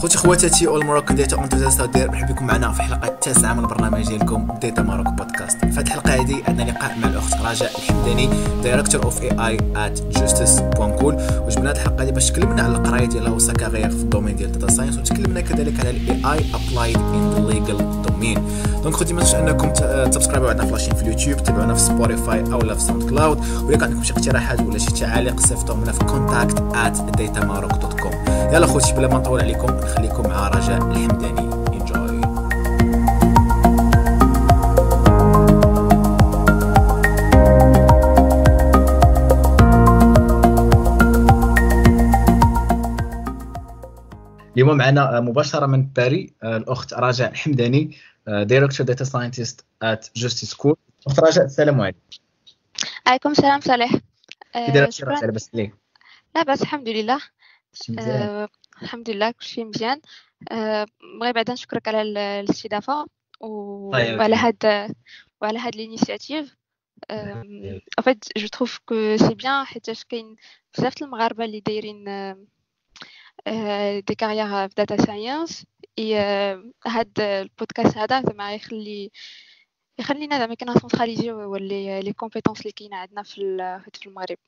خوتي خواتاتي all Moroccan data enthusiasts، مرحبا بكم معنا في الحلقة التاسعة من البرنامج ديالكم Data Maroc Podcast. في هذه الحلقة هذه عندنا لقاء مع الاخت رجاء الحمداني، director of AI at Justice.cool. وجبنا هذه الحلقة هذه باش تكلمنا على القراية ديالها و sa carrière في ال domaine ديال data science، وتكلمنا كذلك على ال AI applied in the legal domain. donc خوتي ما تنسوش انكم تسبسكرايبوا عندنا في la chaîne في اليوتيوب، تابعونا في Spotify او لا في SoundCloud، ولا كان عندكم شي اقتراحات ولا شي تعاليق صيفطوهم لنا في contact@datamaroc.com. يلا خوتي بلا ما نطول عليكم نخليكم مع رجاء الحمداني. enjoy. اليوم معنا مباشرة من باري الأخت رجاء الحمداني، director data scientist at JustiSchool. أخت رجاء السلام عليكم. عليكم السلام صالح. كي دايرة رجاء؟ لاباس عليك؟ لاباس الحمد لله. مزيان الحمد لله كلشي مزيان. بغي بعدا نشكرك على الاستضافة وعلى هاد l'initiative. En fait je trouve que c'est bien حيتاش كاين بزاف المغاربة اللي دايرين des carrières في data science، et هاد البودكاست هذا زعما يخلينا زعما كنسونتراليزيو les compétences اللي كاينه عندنا في المغرب.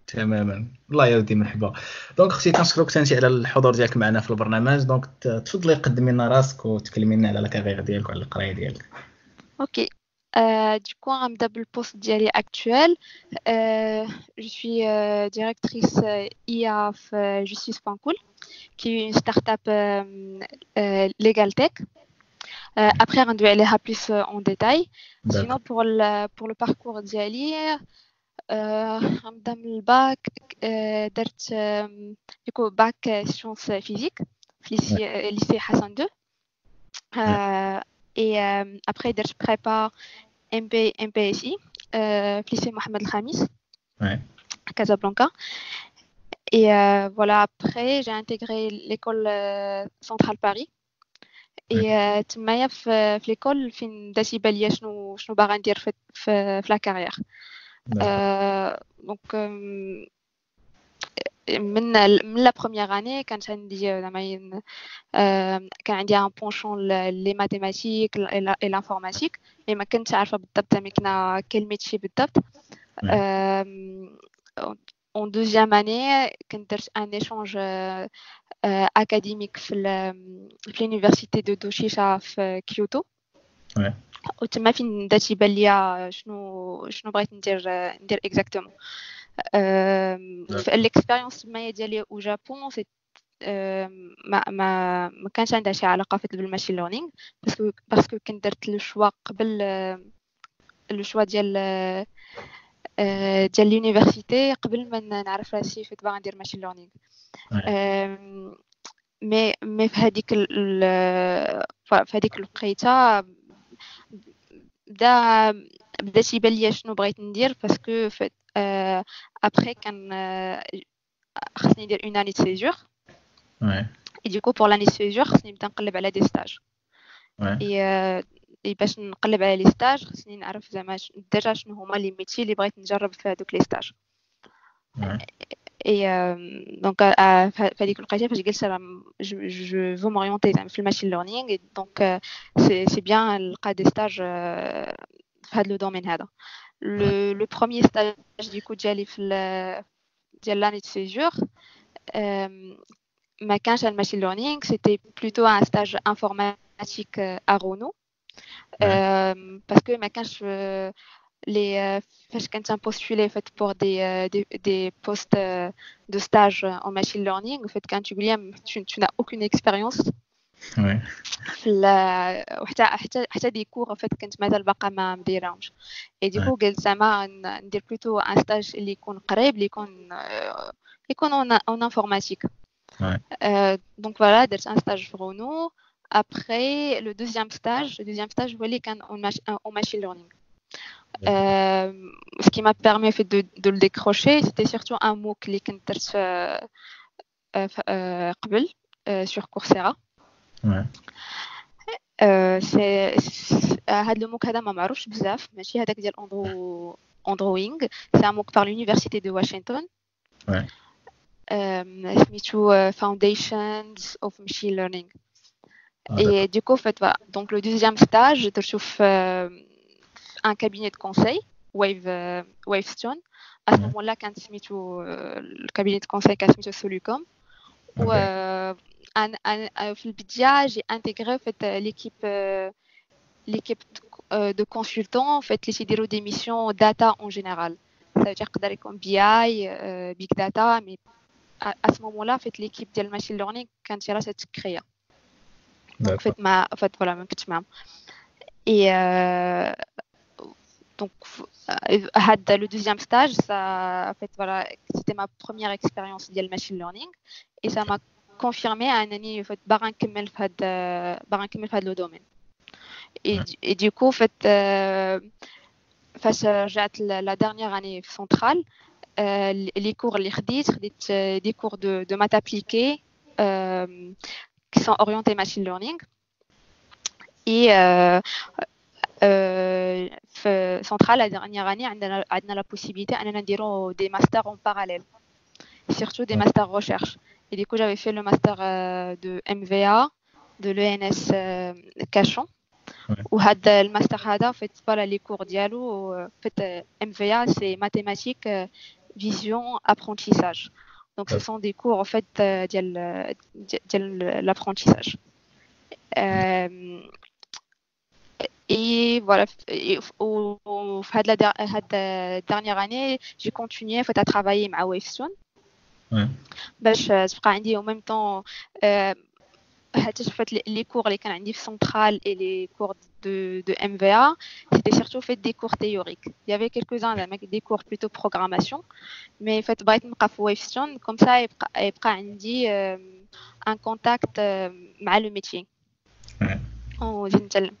تماما، الله يودي مرحبا. donc اختي كنشكرك ثاني على الحضور ديالك معنا في البرنامج. donc تفضلي قدمي لنا راسك وتكلمي لنا على la carrière ديالك وعلى القراية ديالك. OK، du coup غنبدا بال poste ديالي actuel. Je suis directrice IA في Justice.cool qui est une start-up legal tech. Après غندوي عليها plus en détail. Sinon pour le parcours ديالي غنبدا من الباك. درت du coup bac sciences physiques في lycée Hassan 2، et après درت prépa MPSI في lycée Mohamed El Khamis Casablanca. Et voilà, après j'ai intégré l'école centrale Paris. Et تمايا في l'école فين بدا تيبان ليا شنو باغا ندير في la carrière. Donc من la première année كانت عندي زعما كان عندي un penchant les mathématiques et l'informatique، mais ما كنتش عارفه بالضبط زعما كنا quel métier بالضبط. En deuxième année كنت درت un échange académique في l'université de Doshisha في كيوتو. وتما فين بدا تيبان ليا شنو بغيت ندير exactement. في l'expérience تمايا ديالي au Japon c'est ما ما ما كانش عندها شي علاقة بال machine learning، parce que كنت درت le choix قبل le choix ديال l'université قبل ما نعرف راسي فين باغا ندير machine learning. mais في هذيك الوقيته بدا تيبان ليا شنو بغيت ندير، parce que après كان خصني ندير une année de césure. Et du coup pour l'année de césure خصني نبدا نقلب على des stages. et باش نقلب على les stages خصني نعرف زعما déjà شنو هما les métiers اللي بغيت نجرب في هذوك les stages. et donc في هذيك الوقيته فاش قلت راه je veux m'orienter زعما في ال machine learning، donc c'est bien نلقى des stages في هذا le domaine هذا. Le premier stage du coup ديالي في ديال l'année de césure ما كانش ال machine learning، c'était plutôt un stage informatique à Renault، parce que ما كانش les فاش كنت postuler en fait pour des postes de stage en machine learning en fait quand tu dis tu n'as aucune expérience. وحتى حتى des cours en fait كنت مازال باقا ما مديرهمش. et du coup قلت زعما ندير plutôt un stage اللي يكون قريب اللي يكون en informatique. Donc voilà درت un stage في Renault. Après le deuxième stage هو اللي كان en machine learning. Ce qui m'a permis fait de le décrocher, c'était surtout un MOOC اللي كنت درت قبل sur Coursera. C'est هاد le MOOC هذا ما معروفش بزاف، ماشي هذاك ديال Andrew Ng، c'est un MOOC par l'université de Washington. سميتو Foundations of Machine Learning. Et du coup, en fait, voilà. Donc, le deuxième stage, درتو في un cabinet de conseil, Wavestone. À ce moment-là, كان سميتو le cabinet de conseil كان سميتو Solucom. و في البداية j'ai intégré en fait l'équipe de consultants en fait اللي تيديروا des missions data en général. Ça veut dire يقدر يكون BI, big data, mais à ce moment-là, en fait, l'équipe ديال machine learning كانت يلاه تتكريا. Donc, en fait, en fait, voilà, ما كنتش معاهم. Et donc, هاد le deuxième stage, ça, en fait, voilà, c'était ma première expérience ديال machine learning et ça m'a confirmé أنني en fait باغا نكمل في هاد le domaine. Et du coup, en fait, فاش رجعت la dernière année في Centrale, les cours اللي خديت des cours de maths appliquées qui sont orientés machine learning. Et في Centrale, la dernière année, عندنا la possibilité أننا نديرو des masters en parallèle, surtout des masters recherche. Et du coup, j'avais fait le master de MVA de l'ENS Cachan. وهذا الماستر هذا en fait, voilà, les cours ديالو en fait, MVA, c'est mathématiques, vision, apprentissage. Donc ce sont des cours en fait ديال l'apprentissage. Et voilà, وفي هاد la dernière année, j'ai continué en fait à travailler مع Wavestone باش تبقى عندي en même temps حتى fait les cours اللي كان عندي في Centrale et les cours de MVA, c'était surtout fait des cours théoriques. Il y avait quelques-uns des cours plutôt programmation, mais en fait بغيت نبقى في Wavestone, comme ça يبقى عندي un contact مع le métier ونزيد نتعلم.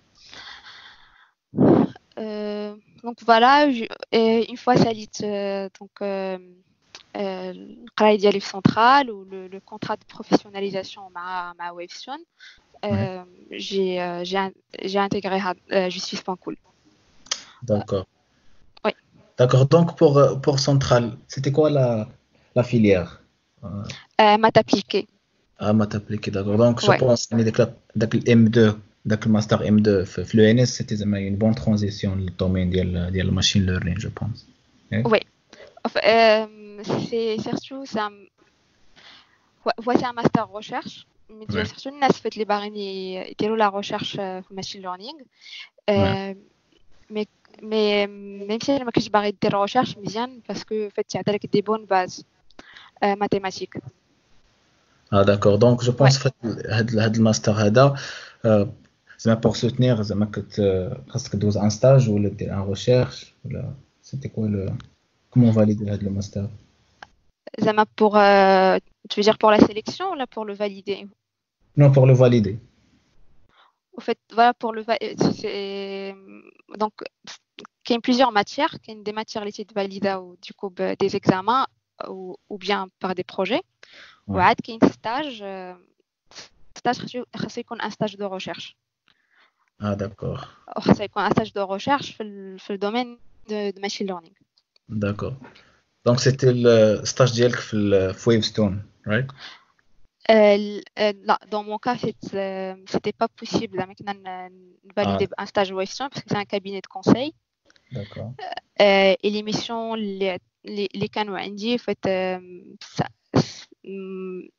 Donc voilà, une fois ساليت donc القرايه ديالي في Centrale و le contrat de professionnalisation مع Wavestone, j'ai intégré Justice.cool. D'accord. Oui. D'accord. Donc pour Centrale, c'était quoi la filière? Maths appliquées. Ah, maths appliquées, d'accord. Donc je pense que داك ال M2, داك ال master M2 في l'ENS, c'était زعما une bonne transition le domaine ديال machine learning, je pense. Oui. Enfin, c'est surtout c'est un ouais, c'est un master recherche, mais surtout الناس فات اللي باغيين يديروا la recherche في machine learning. Mais même si ما كنتش باغي دير recherche, مزيان parce que فات يعطيك des bonnes bases mathématiques. Ah, d'accord. Donc je pense que هاد الماستر هذا زعما pour soutenir, زعما كت خاصك دوز un stage ولا دير un recherche ولا c'était quoi le comment valider هاد le master? زعما pour tu veux dire pour la sélection ولا pour le valider? Non, pour le valider. Au fait, voilà, pour le c'est donc كاين plusieurs matières, كاين des matières اللي تفاليدا du coup des examens ou bien par des projets. وعاد كاين stage خاصو يكون un stage de recherche. Ah, d'accord. خاصو يكون un stage de recherche في le domaine de machine learning. D'accord. Donc c'était le stage ديالك في Wavestone, right? لا, dans mon cas, c'était pas possible زعما كنا نفاليدي un stage Wavestone parce que c'est un cabinet de conseil. Et les missions اللي كانوا عندي fait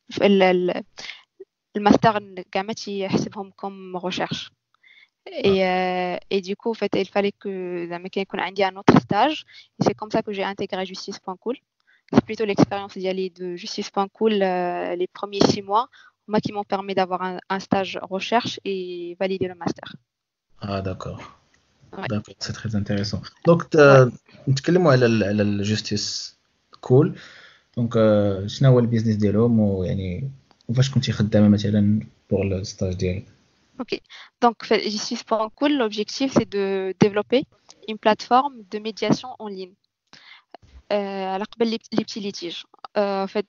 في الماستر كاع ما تيحسبهم comme recherche. Et du coup, en fait, il fallait que زعما كان يكون عندي un autre stage. Et c'est comme ça que j'ai intégré Justice.cool. C'est plutôt l'expérience ديالي de Justice.cool, les premiers 6 mois, moi qui m'ont permis d'avoir un stage recherche et valider le master. Ah, d'accord. Ouais. D'accord, c'est très intéressant. Donc نتكلموا على ال Justice Cool. Donc شنو هو ال business ديالهم ويعني وفاش كنتي خدامه مثلا pour le stage ديالك؟ Ok, donc Justice.cool, l'objectif, c'est de développer une plateforme de médiation en ligne. على قبل les petits litiges. En fait,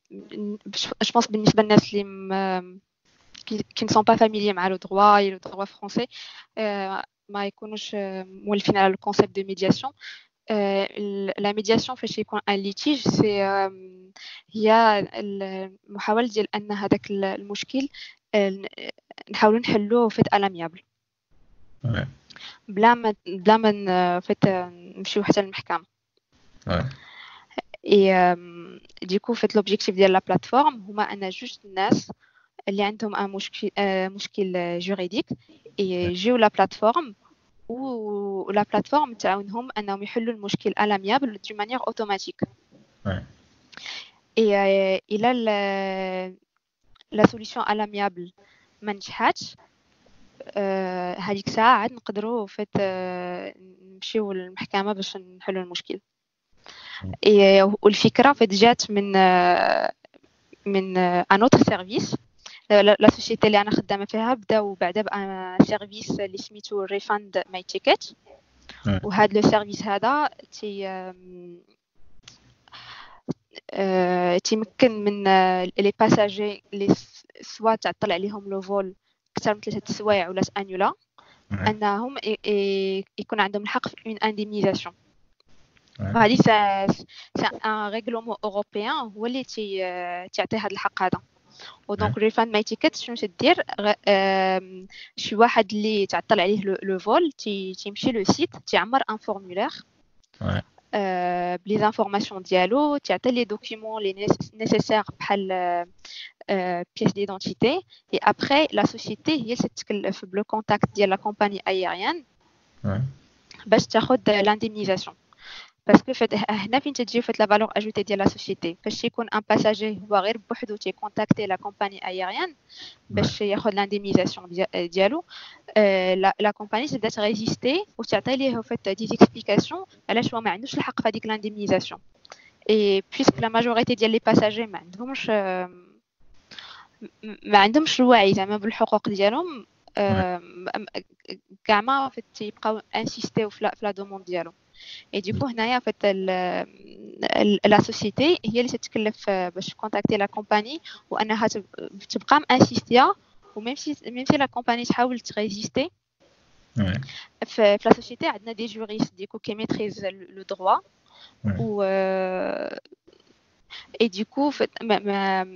je pense بالنسبة للناس اللي qui ne sont pas familiers مع le droit et le droit français, ما يكونوش مولفين على le concept de médiation. La médiation فاش يكون un litige, c'est هي المحاولة ديال ان هذاك المشكل نحاولوا نحلوه en fait à l'amiable بلا ما en fait نمشيو حتى للمحكمه. Et du coup, en fait, l'objectif ديال la plateforme هما ان جوج الناس اللي عندهم un مشكل juridique يجيو la plateforme و la plateforme تعاونهم انهم يحلوا المشكل à l'amiable d'une manière automatique. Et الى la solution à l'amiable ما نجحاتش, هذيك الساعة عاد نقدروا en fait نمشيو للمحكمة باش نحلوا المشكل. والفكرة en fait جات من un autre service. La société اللي انا خدامه فيها بداو بعدا ب un service اللي سميتو Refund My Ticket. وهذا le service هذا تيمكن من les passagers اللي soit تعطل عليهم le vol اكثر من 3 سوايع ولا annula انهم يكون عندهم الحق في une indemnisation. وهذه c'est un règlement européen هو اللي تيعطي هذا الحق هذا. و donc Refund My Ticket شنو تدير؟ شي واحد اللي تعطل عليه le vol تيمشي le site, تيعمر un formulaire ب les informations ديالو, تعطي les documents les nécessaires بحال pièce d'identité, et après la société هي اللي تتكلف ب le contact ديال la compagnie aérienne باش تاخذ l'indemnisation. Parce que هنا فين تجي en fait la valeur ajoutée ديال la société: فاش يكون un passager هو غير بوحدو تي contacter la compagnie aérienne باش ياخذ l'indemnisation ديالو, la compagnie تبدا ت résister وتعطي ليه en fait des explications علاش هو ما عندوش الحق في هذيك l'indemnisation. Et puisque la majorité ديال les passagers ما عندهمش الوعي زعما بالحقوق ديالهم كاع ما تيبقاو insister في la demande ديالهم. Et du coup هنايا en fait la société هي اللي تتكلف باش contacter la compagnie وانها تبقى insister, و même si la compagnie تحاول ت résister, في la société عندنا des juristes, du coup, qui maîtrisent le droit و et du coup ما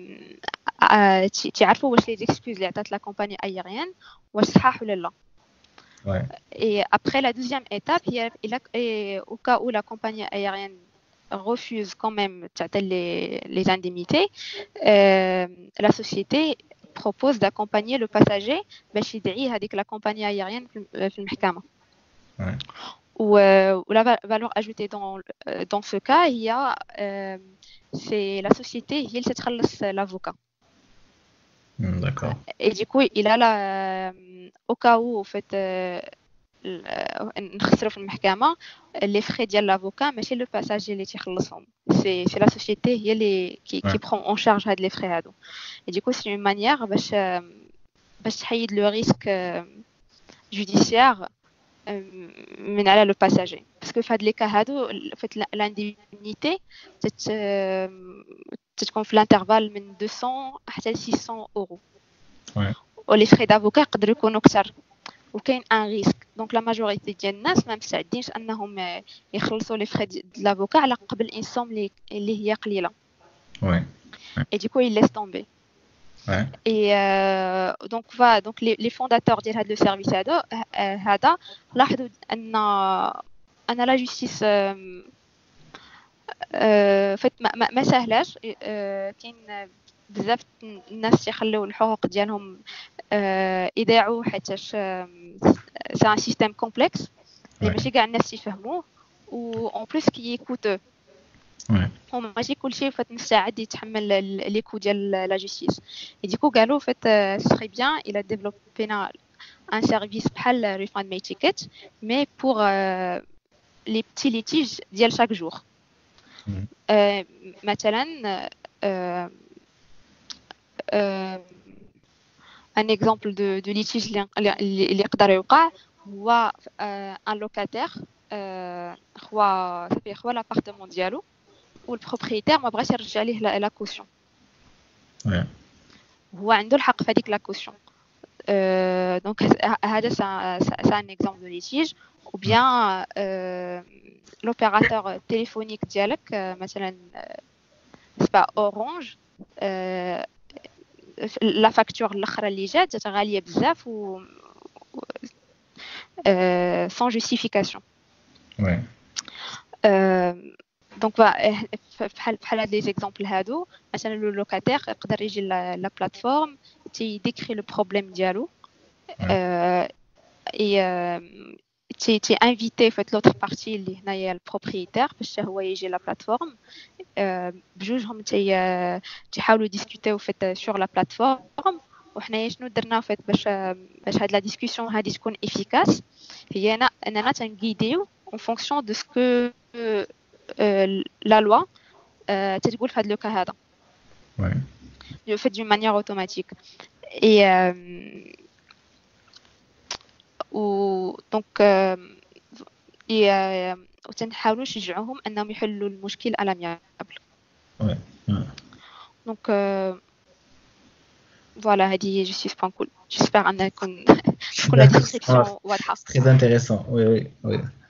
تعرفوا واش les excuses اللي عطات la compagnie aérienne واش صحاح ولا لا. Et après, la deuxième étape, et au cas où la compagnie aérienne refuse quand même les indemnités, la société propose d'accompagner le passager باش يدعي هذيك la compagnie aérienne في المحكمة. و la valeur ajoutée dans ce cas, il y a c'est la société هي اللي تخلص l'avocat. D'accord. Et du coup, il a la au cas où, en fait, نخسروا في المحكمة, les frais ديال l'avocat ماشي le passager اللي تيخلصهم, c'est la société هي اللي qui prend en charge هاد les frais هادو. Et du coup, c'est une manière باش تحيد le risque judiciaire من على le passager, parce que في هاد les cas هادو, en fait, l'indemnité تتكون في l'intervalle من 200 حتى 600 euros و les frais d'avocat يقدروا يكونوا اكثر وكاين un risque. Donc la majorité ديال الناس ما مستعدينش انهم يخلصوا les frais de l'avocat على قبل une somme اللي هي قليله. Et du coup, ils laissent tomber. Et donc voilà, donc les fondateurs ديال هذا le service هذا لاحظوا ان la justice en fait ما سهلاش. كاين بزاف الناس تيخليو الحقوق ديالهم يضيعوا حيتاش c'est un système complexe اللي ماشي كاع الناس يفهموه و en plus qui est coûteux. وماشي كلشي en fait مستعد يتحمل les coûts ديال la justice. Et du coup قالوا en fait ce serait bien الى développ ينا un service بحال Refund My Ticket, mais pour les petits litiges ديال chaque jour. مثلا un exemple de litige اللي يقدر يوقع هو un locataire خوا صافي خوا l'appartement ديالو وال propriétaire ما بغاش يرجع ليه la caution. هو عنده الحق في هذيك la caution. Donc هذا c'est un exemple de litige. Ou bien l'opérateur téléphonique ديالك مثلا c'est pas Orange, la facture الاخرى اللي جات غاليه بزاف و sans justification. Ouais. Donc بحال هاد les exemples هادو, مثلا le locataire يقدر يجي la plateforme تي décrit le problème ديالو et تي inviter en fait l'autre partie اللي هنايا ال propriétaire باش هو يجي la plateforme. بجوجهم تيحاولوا discuter en fait sur la plateforme. وحنايا شنو درنا en fait باش هاد la discussion هادي تكون efficace هي اننا تنguiderيو en fonction de ce que la loi تتقول في هاد le cas هذا. En fait d'une manière automatique. Et و donc وتنحاولوا نشجعوهم انهم يحلوا المشكل à l'amiable. Donc voilà, هذه Justice.cool. J'espère ان تكون la description واضحه. Très intéressant, oui,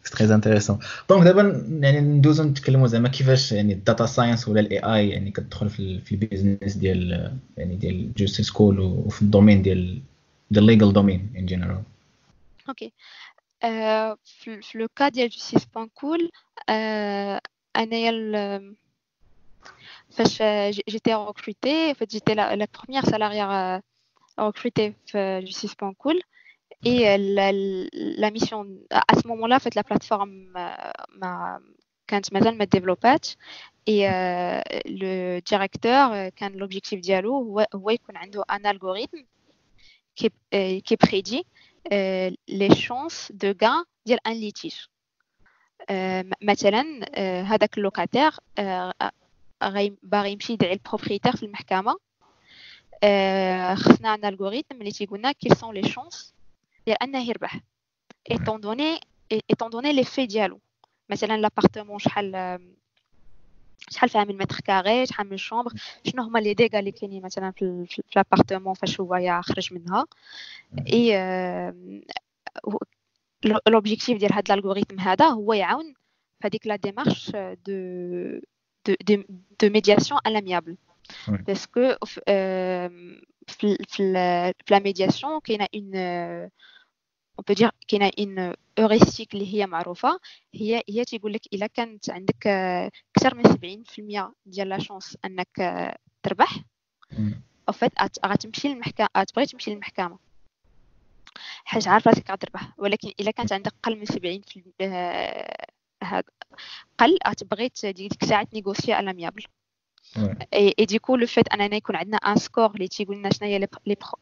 c'est très intéressant. Donc دابا يعني ندوزو نتكلموا زعما كيفاش يعني ال data science ولا ال AI يعني كتدخل في ال business ديال يعني ديال JusticeCool وفي ال domaine ديال legal domain in general. OK, في le cas ديال Justice.cool, انايا فاش j'étais recrutée, en fait j'étais la première salariée recrutée في Justice.cool et la mission à ce moment-là, en fait la plateforme ما كانت مازال ما développاتش et le directeur كان l'objectif ديالو هو يكون عنده un algorithme qui prédit les chances de gain ديال un litige. مثلا هذاك ال locataire باغي يمشي يدعي ال propriétaire في المحكمه, خصنا un algorithme اللي تيقولنا quelles sont les chances ديال انه يربح étant donné les faits ديالو, مثلا l'appartement شحال فيها من mètres carrés, شحال من chambre, شنو هما les dégâts اللي كاينين مثلا في l'appartement فاش هو يخرج منها. Et l'objectif ديال هاد l'algorithme هذا هو يعاون في هذيك la démarche de médiation à l'amiable, parce que في la médiation كاينه une, on peut dire كاينه une heuristique اللي هي معروفه, هي تيقول لك الا كانت عندك اكثر من 70% ديال la chance انك تربح, en fait غتمشي للمحكمه, تبغي تمشي للمحكمه حيت عارفه راسك غتربح, ولكن الا كانت عندك قل من 70%, هذا قل, غتبغي ديك الساعه négocier à l'amiable. Et du coup, le fait اننا يكون عندنا un score اللي تيقول لنا شنو هي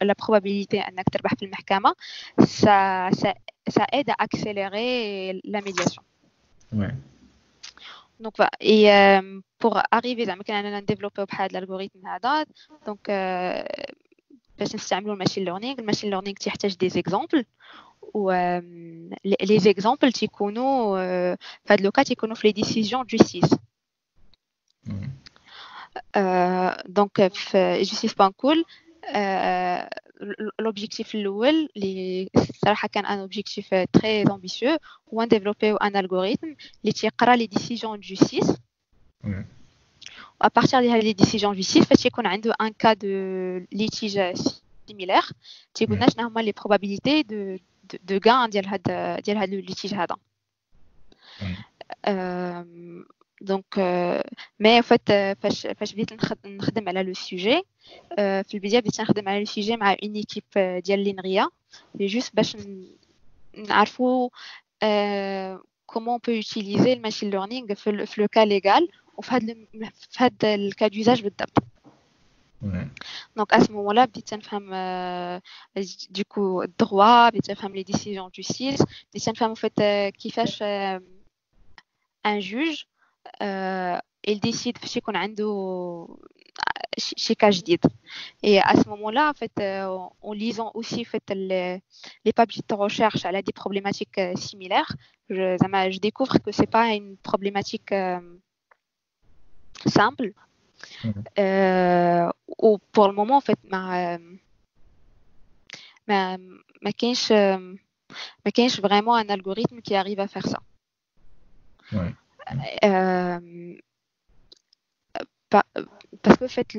la probabilité انك تربح في المحكمه, ça aide à accélérer la médiation. Donc voilà. Et pour arriver زعما كان اننا نديفلوبيو بحال l'algorithme هذا, donc باش نستعملوا ال machine learning, ال machine learning تيحتاج des exemples و les exemples تيكونوا في هذا le cas تيكونوا في les décisions de justice. Donc في Justice.cool, l'objectif الاول اللي الصراحه كان un objectif très ambitieux هو نديفلوبيو un algorithme اللي تيقرا les décisions de justice. À partir ديال les décisions de justice, فاش يكون عنده un cas de litige similaire, تيقول لنا شنو هما les probabilités de gain ديال هاد le litige هذا. Donc mais en fait فاش بديت نخدم على le sujet, في البدايه بديت نخدم على le sujet مع une équipe ديال l'INRIA, juste باش نعرفوا comment on peut utiliser le machine learning في le cas légal وفي هاد ال cas d'usage بالضبط. Donc à ce moment-là بديت نفهم du coup ال droit, بديت نفهم les décisions de justice, بديت نفهم en fait كيفاش un juge il décide فاش يكون عنده شي cas جديد. Et à ce moment-là, en fait, en lisant aussi en fait les papiers de recherche على des problématiques similaires, زعما je découvre que c'est pas une problématique simple. Ou pour le moment, en fait, ما ما كاينش vraiment un algorithme qui arrive à faire ça. Parce que en fait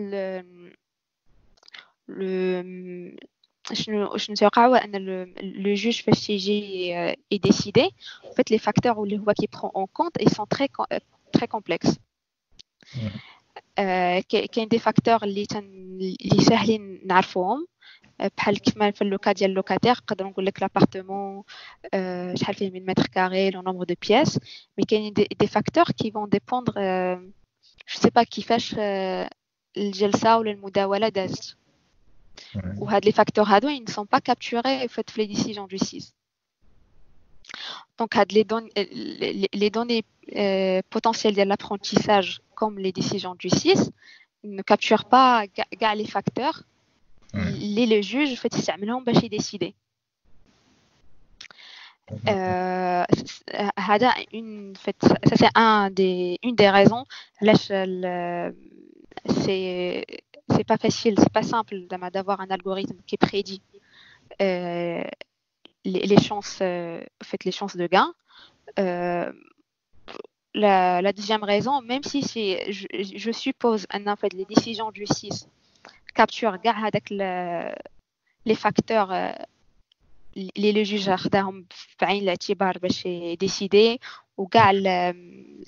le شنو تيوقع هو ان le juge فاش تيجي يديسيدي, en fait les facteurs اللي هو كي prend en compte, ils sont très très complexes. كاين des facteurs اللي ساهلين نعرفوهم, بحال كيف ما في le cas ديال locataire نقدروا نقول لك l'appartement شحال فيه من mètres carrés, le nombre de pièces, mais كاينين des facteurs qui vont dépendre, je sais pas, كيفاش الجلسه ولا المداوله دازت, وهاد les facteurs هادو ils ne sont pas capturés en fait في les décisions de justice. Donc هاد les données potentielles de l'apprentissage comme les décisions de justice ne capturent pas كاع les facteurs اللي le juge fait يستعملهم باش يديسيدي. هذا une fait ça c'est un des une des raisons علاش c'est pas facile, c'est pas simple d'avoir un algorithme qui prédit les chances, en fait les chances de gain. La deuxième raison, même si c'est je suppose en fait les décisions de justice capturent كاع هذاك les facteurs اللي le juge خداهم في عين الاعتبار باش يديسيدي, وكاع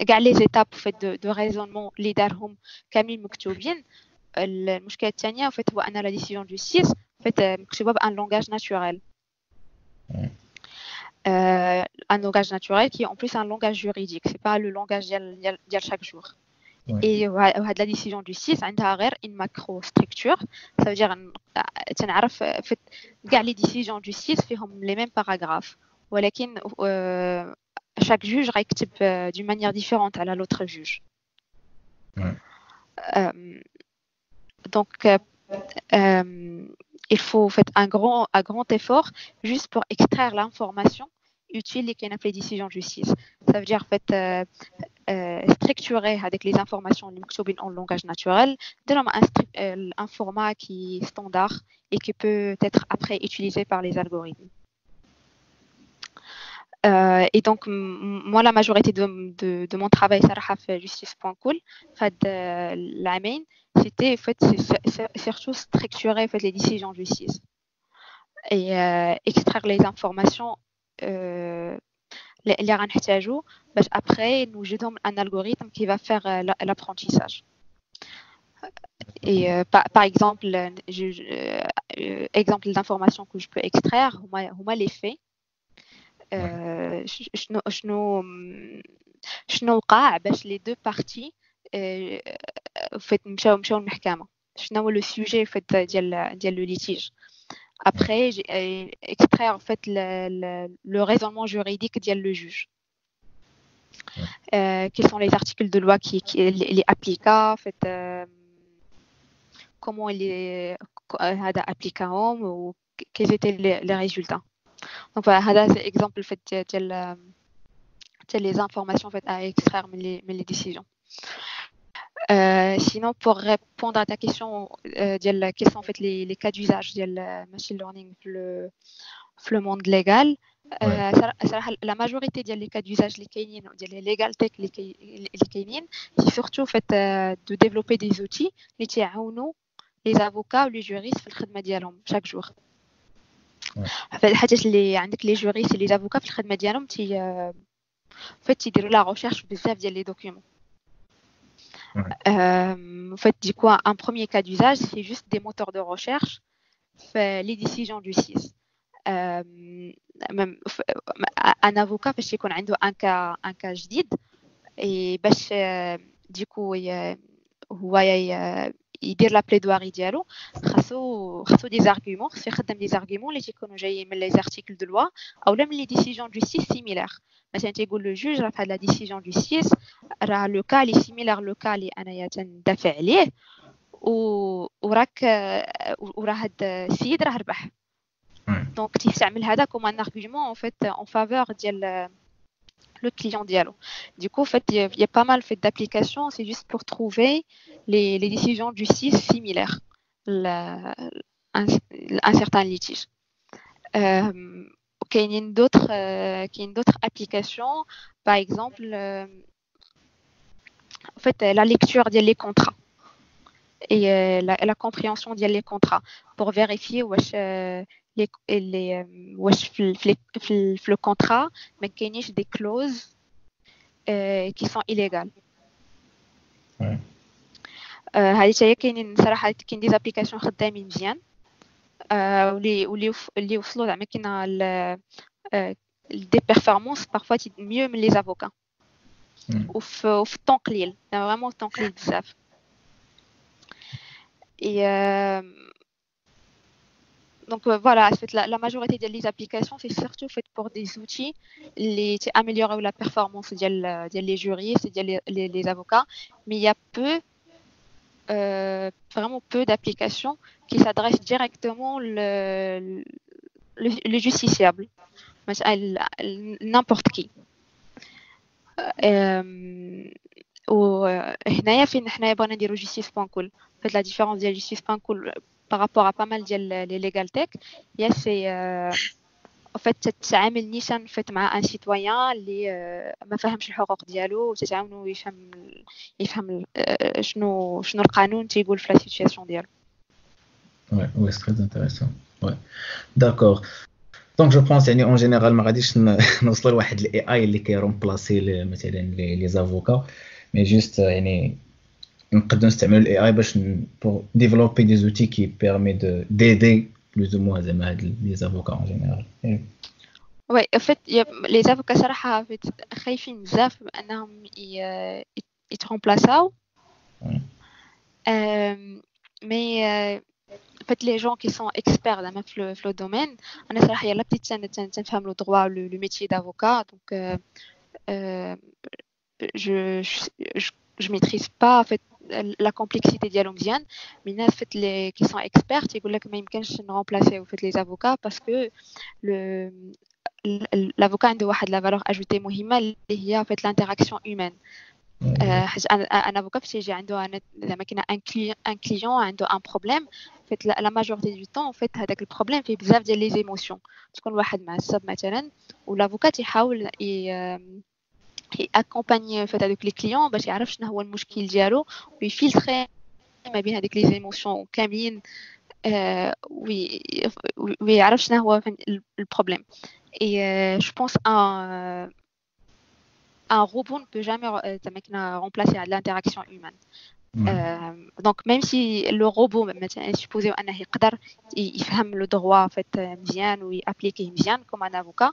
كاع les étapes en fait de raisonnement اللي دارهم كاملين مكتوبين. المشكله الثانيه en fait هو ان la décision de justice en fait مكتوبه ب un langage naturel, un langage naturel qui est en plus un langage juridique, c'est pas le langage ديال chaque jour. Et وهاد la décision de justice عندها غير une macro structure, ça veut dire تنعرف في كاع les décisions de justice فيهم les mêmes paragraphes, ولكن chaque juge غيكتب d'une manière différente على l'autre juge. Donc il faut faire un grand effort juste pour extraire l'information utile اللي كاينه في les décisions de justice. Ça veut dire en fait structurer avec les informations اللي مكتوبين en langage naturel, ديرهم un format qui est standard et qui peut être après utilisé par les algorithmes. Et donc, moi, la majorité de mon travail, صراحة في justice.cool, في هاد العامين, c'était en fait surtout structurer en fait les décisions de justice et extraire les informations اللي غنحتاجو باش après نوجدهم un algorithme qui va faire l'apprentissage. Et par exemple, exemple d'informations que je peux extraire, هما les faits. شنو وقع باش les deux parties fait مشاو للمحكمة, شنو هو le sujet en fait ديال le litige. Après, extraire en fait le raisonnement juridique ديال le juge. Quels sont les articles de loi qui les appliqua, en fait, comment il est هذا appliquaهم ou quels étaient les résultats. Donc voilà, هذا c'est exemple en fait ديال les informations en fait à extraire من les décisions. Sinon, pour répondre à ta question ديال quels sont en fait les cas d'usage ديال machine learning في le monde légal, صراحة la majorité ديال les cas d'usage اللي كاينين ديال les legal tech اللي كاينين, c'est surtout en fait de développer des outils اللي تيعاونوا les avocats ou les juristes في الخدمة ديالهم chaque jour. الحاجات اللي عندك les juristes et les avocats في الخدمة ديالهم تي en fait تيديروا la recherche بزاف ديال les documents. En fait, du coup, un premier cas d'usage, c'est juste des moteurs de recherche, في les décisions de justice. Même un avocat فاش يكون عنده un cas جديد et باش du coup هو يدير la plaidoirie ديالو, خاصو des arguments, خاصو يخدم des arguments اللي تيكونوا جايين من les articles de loi او من les décisions de justice similaires. مثلا تيقول le juge راه في هاد la décision de justice راه le cas اللي similaire le cas اللي انايا تندافع عليه وراك وراه هاد السيد راه ربح. Donc تيستعمل هذا comme un argument en fait en faveur ديال le client ديالو. Du coup, en fait, il y a pas mal fait d'applications, c'est juste pour trouver les décisions de justice similaires un certain litige. كاينين d'autres applications, par exemple en fait la lecture ديال les contrats et la compréhension ديال les contrats pour vérifier واش les واش في le contrat ما كاينينش des clauses qui sont illégales. هذه حتى هي كاينين صراحه كاين des applications خدامين مزيان واللي وصلوا زعما كاين des performances parfois mieux من les avocats وفي temps قليل, vraiment temps قليل بزاف. Et donc voilà, en fait, la majorité des applications, c'est surtout fait pour des outils اللي améliorer la performance ديال les juristes, ديال les avocats, mais il y a peu, vraiment peu d'applications qui s'adressent directement le justiciable, n'importe qui. وهنايا فين حنايا بغينا نديرو Justice.cool. En fait, la différence ديال Justice.cool par rapport à pas mal ديال les legal tech, هي c'est en fait تتعامل نيشان fait مع un citoyen اللي ما فهمش الحقوق ديالو وتتعاونو يفهم شنو القانون تيقول في la situation ديالو. Ouais, c'est très intéressant. Ouais. D'accord. Donc je pense يعني en général ما غاديش نوصلوا لواحد ال AI اللي كي remplacer مثلا les avocats, mais juste يعني نقدروا نستعملوا ال AI باش pour développer des outils qui permettent de d'aider plus ou moins زعما هاد les avocats en général. Oui, en fait, les avocats صراحة خايفين بزاف انهم يترومبلاساو, mais en fait les gens qui sont experts زعما في le domaine, انا صراحه يلا بديت تنفهم le droit, le métier d'avocat, donc je maîtrise pas en fait la complexité ديالو مزيان, mais الناس fait les qui sont experts يقول لك ما يمكنش نرومبلاسيو fait les avocats parce que le l'avocat عنده واحد la valeur ajoutée مهمه اللي هي en fait l'interaction humaine. حيت un avocat فاش يجي عنده زعما كاين un client عنده un problème, fait la majorité du temps en fait هذاك ال problème فيه بزاف ديال les émotions, تكون واحد معصب مثلا و l'avocat تيحاول accompagner fait هذوك les clients باش يعرف شنو هو المشكل ديالو وي filtrer ما بين هذيك les émotions كاملين ويعرف شنو هو ال problème. Et je pense un robot ne peut jamais remplacer l'interaction humaine. Donc même si le robot مثلا supposé انه يقدر يفهم le droit en fait مزيان وي appliquer مزيان comme un avocat,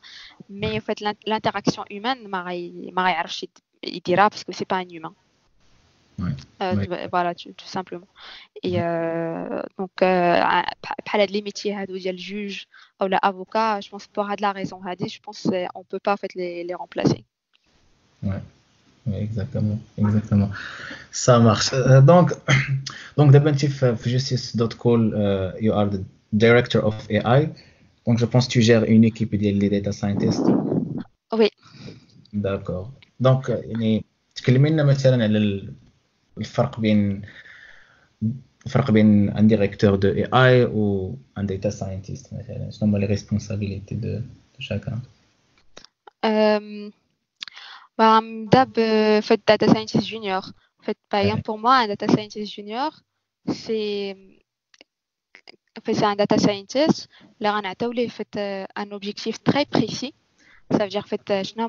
mais en fait l'interaction humaine ما غيعرفش يديرها parce que c'est pas un humain. Voilà, tout simplement. Et donc بحال هاد les métiers هادو ديال juge او لا avocat, je pense pour هاد la raison هادي, je pense on peut pas en fait les remplacer. Ouais. Oui, exactement, exactement. Ça marche. Donc دابا انت في Justice.cool, you are the director of AI. Donc je pense que tu gères une équipe ديال les data scientists. Oui. D'accord. Donc يعني تكلمي لنا مثلا على الفرق بين un directeur de AI و un data scientist مثلا, شنو هما les responsabilités de chacun? Bah, دابا fait data scientist junior. En fait, par exemple, pour moi, un data scientist junior, c'est en fait, c'est un data scientist اللي غنعطيو ليه fait un objectif très précis. Ça veut dire fait شنو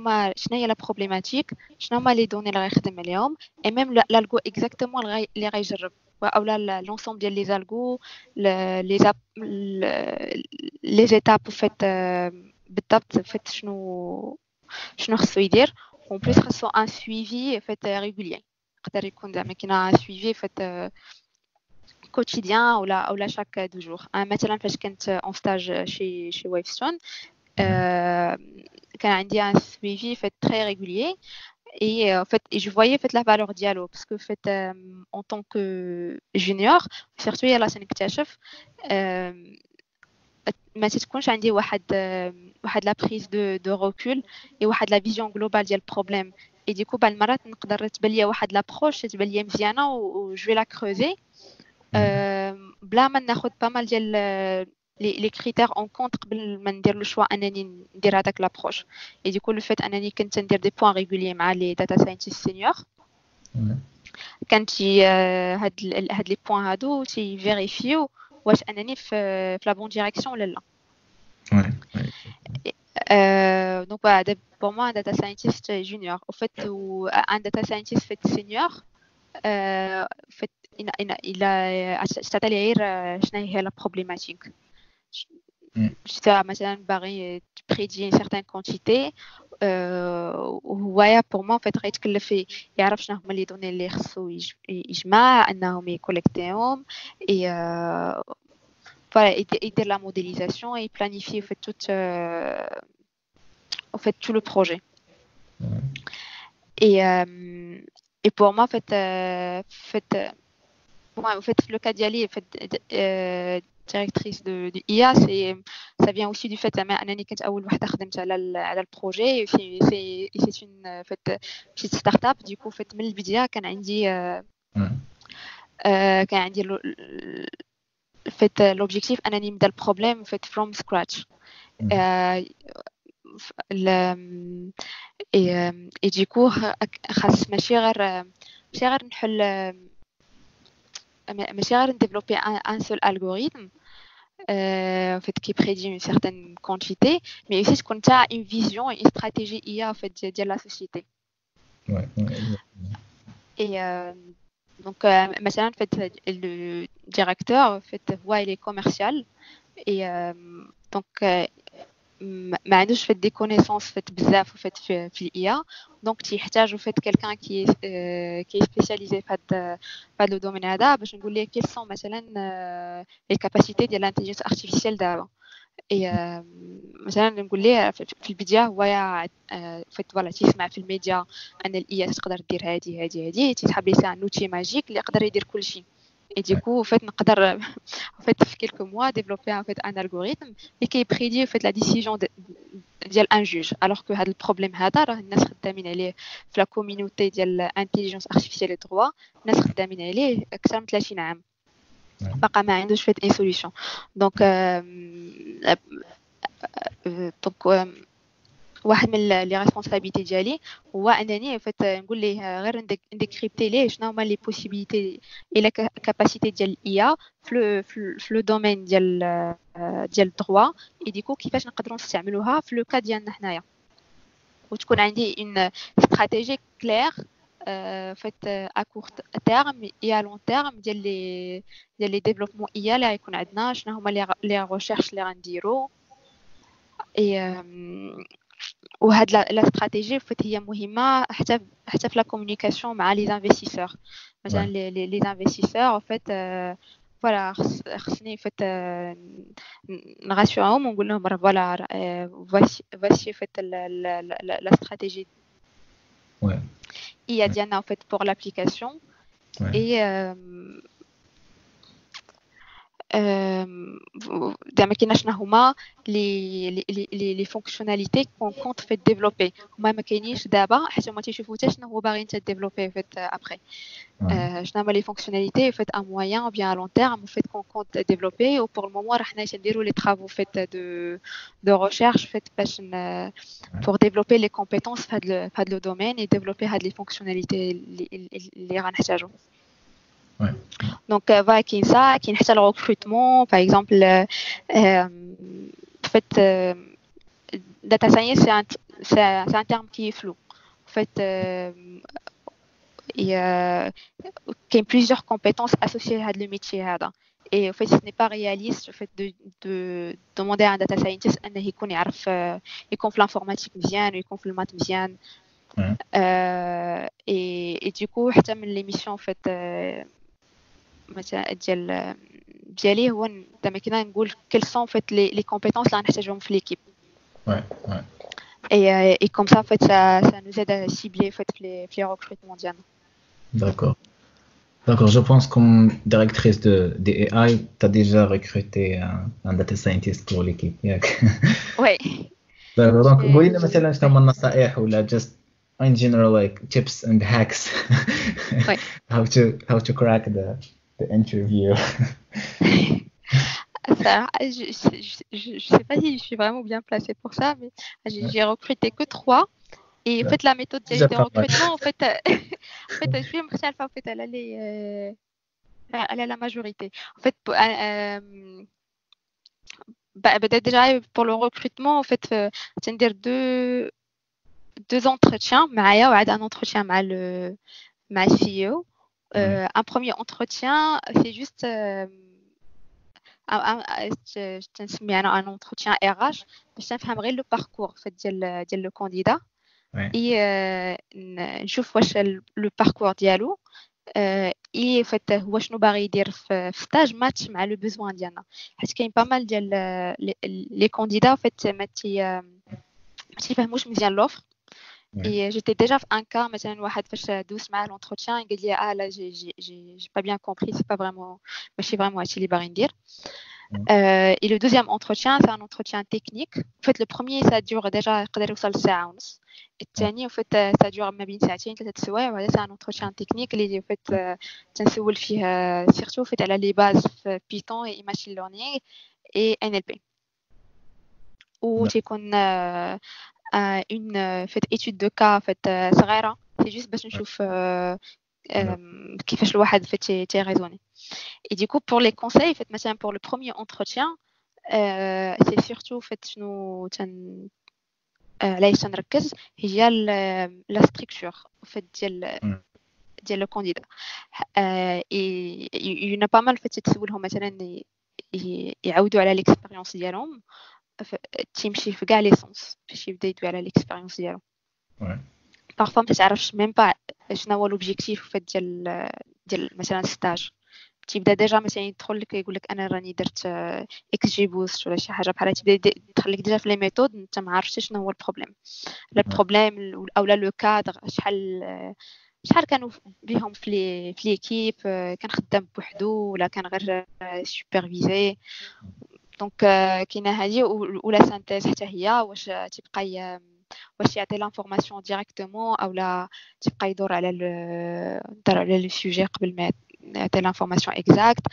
هي la problématique, شنو هما les données اللي غيخدم عليهم et même l'algo exactement اللي غيجرب او لا l'ensemble ديال les algos, les étapes fait بالضبط fait شنو خصو يدير. En plus خاصو un suivi fait régulier, يقدر يكون زعما كاين un suivi fait quotidien ولا chaque 2 jours. مثلا فاش كنت en stage chez Wavestone, كان عندي un suivi fait très régulier et en fait et je voyais fait la valeur ديالو parce que fait en tant que junior surtout يلا تنكتشف ما تتكونش عندي واحد la prise de recul et واحد la vision globale ديال ال problème. Et du coup بعض المرات نقدر تبان ليا واحد l'approche تبان ليا مزيانه و je vais la creuser بلا ما ناخذ pas mal ديال les critères en compte قبل ما ندير le choix انني ندير هذاك l'approche. Et du coup, le fait انني كنت ندير des points réguliers مع les data scientists seniors, كانت هاد les points هادو تي vérifier واش انني في la bonne direction ولا لا. Donc voilà, pour moi, un data scientist junior, au fait, ou un data scientist fait senior, fait, il a غير شنو هي la problématique. مثلا باغي prédire une certaine quantité, وهو pour moi, en fait, غيتكلف يعرف شنو هما les données اللي خصو يجمع انهم ي collecter هم et voilà, يدير la modélisation et planifier en fait tout en fait tout le projet. Et pour moi, en fait, moi, en fait, le cas ديالي, en fait, directrice de IA, c'est ça vient aussi du fait انني كنت اول وحده خدمت على ال projet. C'est une, en fait, petite start-up. Du coup, en fait, من البدايه كان عندي fait l'objectif انني نبدا ال problème, en fait, from scratch. Et du coup, خاص ماشي غير نحل, ماشي غير ن développer un seul algorithme, en fait, qui prédit une certaine quantité, mais aussi تكون تا une vision et une stratégie IA, en fait, ديال la société. Et donc, مثلا, en fait, le directeur, en fait, هو il est commercial et donc ما عندوش fait des connaissances, fait, بزاف, fait, في l'IA, donc تيحتاج, fait, quelqu'un qui est spécialisé في هاد le domaine هذا باش نقول ليه quelles sont مثلا les capacités ديال l'intelligence artificielle دابا. Et مثلا نقول ليه في البدايه هو fait, voilà, تيسمع في الميديا ان l'IA تقدر دير هادي هادي هادي, تيسحب لي c'est un outil magique اللي يقدر يدير كلشي. Et du coup, en fait, نقدر, en fait, في quelques mois, développer, en fait, un algorithme et qui prédit, en fait, la décision ديال un juge, alors que هذا ال problème هذا راه الناس خدامين عليه في la communauté ديال intelligence artificielle et droit, الناس خدامين عليه اكثر من 30 عام, باقا ما عندوش fait une solution. Donc واحد من les responsabilités ديالي هو انني fait نقول ليه غير ن décrypter ليه شنو هما les possibilités et la capacité ديال l'IA في le domaine ديال ال droit et du coup كيفاش نقدروا نستعملوها في le cas ديالنا حنايا, وتكون عندي une stratégie claire, fait, à court terme et à long terme ديال les développements IA اللي غيكون عندنا, شنو هما les recherches اللي غنديرو. Et وهاد la stratégie, fait, هي مهمه حتى في la communication مع les investisseurs. مثلا les investisseurs, en fait, voilà, خصني, fait, ن rassurer هم ونقول لهم راه voilà, voici, fait, la stratégie IA ديالنا, en fait, pour l'application. Et زعما كاين شنو هما les fonctionnalités qu'on compte, fait, développer, هما ما كاينينش دابا حيت هما تيشوفوا حتى شنو هو باغي انت développer, fait, après شنو هما les fonctionnalités, fait, à moyen ou bien à long terme, fait, qu'on compte développer. و pour le moment راه حنا تنديروا les travaux, fait, de recherche, fait, باش pour développer les compétences في هذا le domaine et développer هاد les fonctionnalités اللي غنحتاجو. Donc, voilà, كاين ça, كاين حتى le recrutement, par exemple, en fait, data science, c'est un terme qui est flou. En fait, il y a plusieurs compétences associées à le métier هذا. Et en fait, ce n'est pas réaliste, en fait, de demander à un data scientist أنه يكون يعرف يكون في l'informatique مزيان ويكون في ال maths مزيان. Et du coup, حتى من les missions, en fait, مثلا ديالي هو زعما كنا نقول quelles sont, en fait, les compétences اللي غنحتاجهم في l'équipe. Et comme ça, en fait, ça nous aide à cibler, en fait, les recrutements ديالنا. D'accord. D'accord, je pense comme directrice de AI, tu as déjà recruté un data scientist pour l'équipe. ياك؟ Oui. D'accord, donc قولي لنا مثلا شنو هما النصائح ولا just in general, like, tips and hacks how to crack the interview. Ça, je sais pas si je suis vraiment bien placée pour ça, mais j'ai recruté que 3. Et en fait, la méthode de recrutement, en fait, en fait, je suis en fait, elle allait, elle a la majorité. En fait, bah, déjà pour le recrutement, en fait, تندير deux entretiens معايا وعاد un entretien مع le مع CEO. Un premier entretien, c'est juste تنسمي انا un entretien RH باش نفهم غير le parcours en fait ديال le candidat et نشوف واش le parcours ديالو et en fait هو شنو باغي يدير في stage match مع le besoin ديالنا، حيت كاين pas mal ديال les candidats en fait ما تيفهموش مزيان l'offre. Et j'étais déjà في un cas مثلا واحد فاش دوز معاه l'entretien قال لي اه لا j'ai pas bien compris, c'est pas vraiment ماشي vraiment هادشي اللي باغي ندير. Et le deuxième entretien, c'est un entretien technique. En fait, le premier, ça dure déjà يقدر يوصل لساعة ونص. الثاني en fait ça dure ما بين ساعتين 3 سوايع، وهذا c'est un entretien technique اللي en fait تنسول فيه surtout en fait على les bases في Python et machine learning et NLP. وتيكون une fait étude de cas en fait صغيرة، c'est juste باش نشوف كيفاش الواحد fait تي raisonner. Et du coup, pour les conseils, en fait, مثلا pour le premier entretien, c'est surtout en fait شنو تن علاش تنركز هي la structure en fait ديال le candidat. Et il y en a pas mal fait تسولهم مثلا يعاودوا على l'expérience ديالهم، تيمشي في كاع les sens باش يبدا يدوي على l'expérience ديالو. Parfois ما تعرفش même pas شنو هو l'objectif en fait ديال مثلا stage. تيبدا déjà مثلا يدخل لك يقول لك انا راني درت XGBoost ولا شي حاجه بحال، تيبدا يدخل لك déjà في les méthodes، انت ما عرفتش شنو هو ال problème، le problème او لا le cadre، شحال كانوا بهم في l'équipe، كان خدام بوحدو ولا كان غير supervisé. Donc كاينه هذه ولا synthèse حتى هي، واش تيبقى واش يعطي l'information directement او لا تيبقى يدور على le sujet قبل ما يعطي l'information exacte.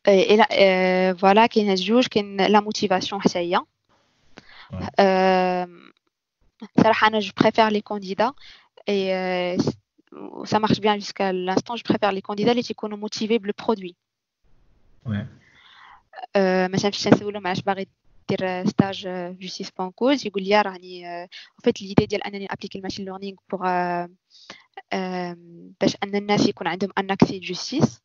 Et voilà, كاين جوج، كاين la motivation حتى هي. صراحه انا je préfère les candidats et ça marche bien jusqu'à l'instant, je préfère les candidats اللي تيكونوا motivés ب le produit. مثلا فاش تنسولهم علاش باغي دير stage Justice.Cool، يقول لي راني en fait l'idée ديال انني appliquer ال machine learning pour باش ان الناس يكون عندهم un accès justice,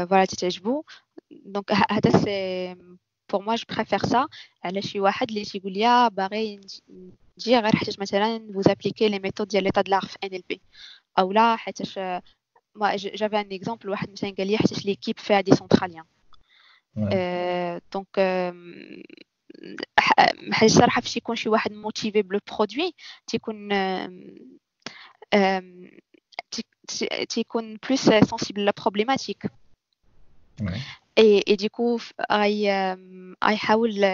voilà, تتعجبو. Donc هذا c'est pour moi, je préfère ça على شي واحد اللي تيقول لي باغي نجي غير حيت مثلا vous appliquez les méthodes ديال l'état de l'art في NLP، او لا حيتاش j'avais un exemple واحد مثلا قال لي حيتاش l'équipe فيها des centraliens. Donc حاجه صراحه فاش يكون شي واحد motivé ب le produit تيكون plus sensible la problématique et du coup غيحاول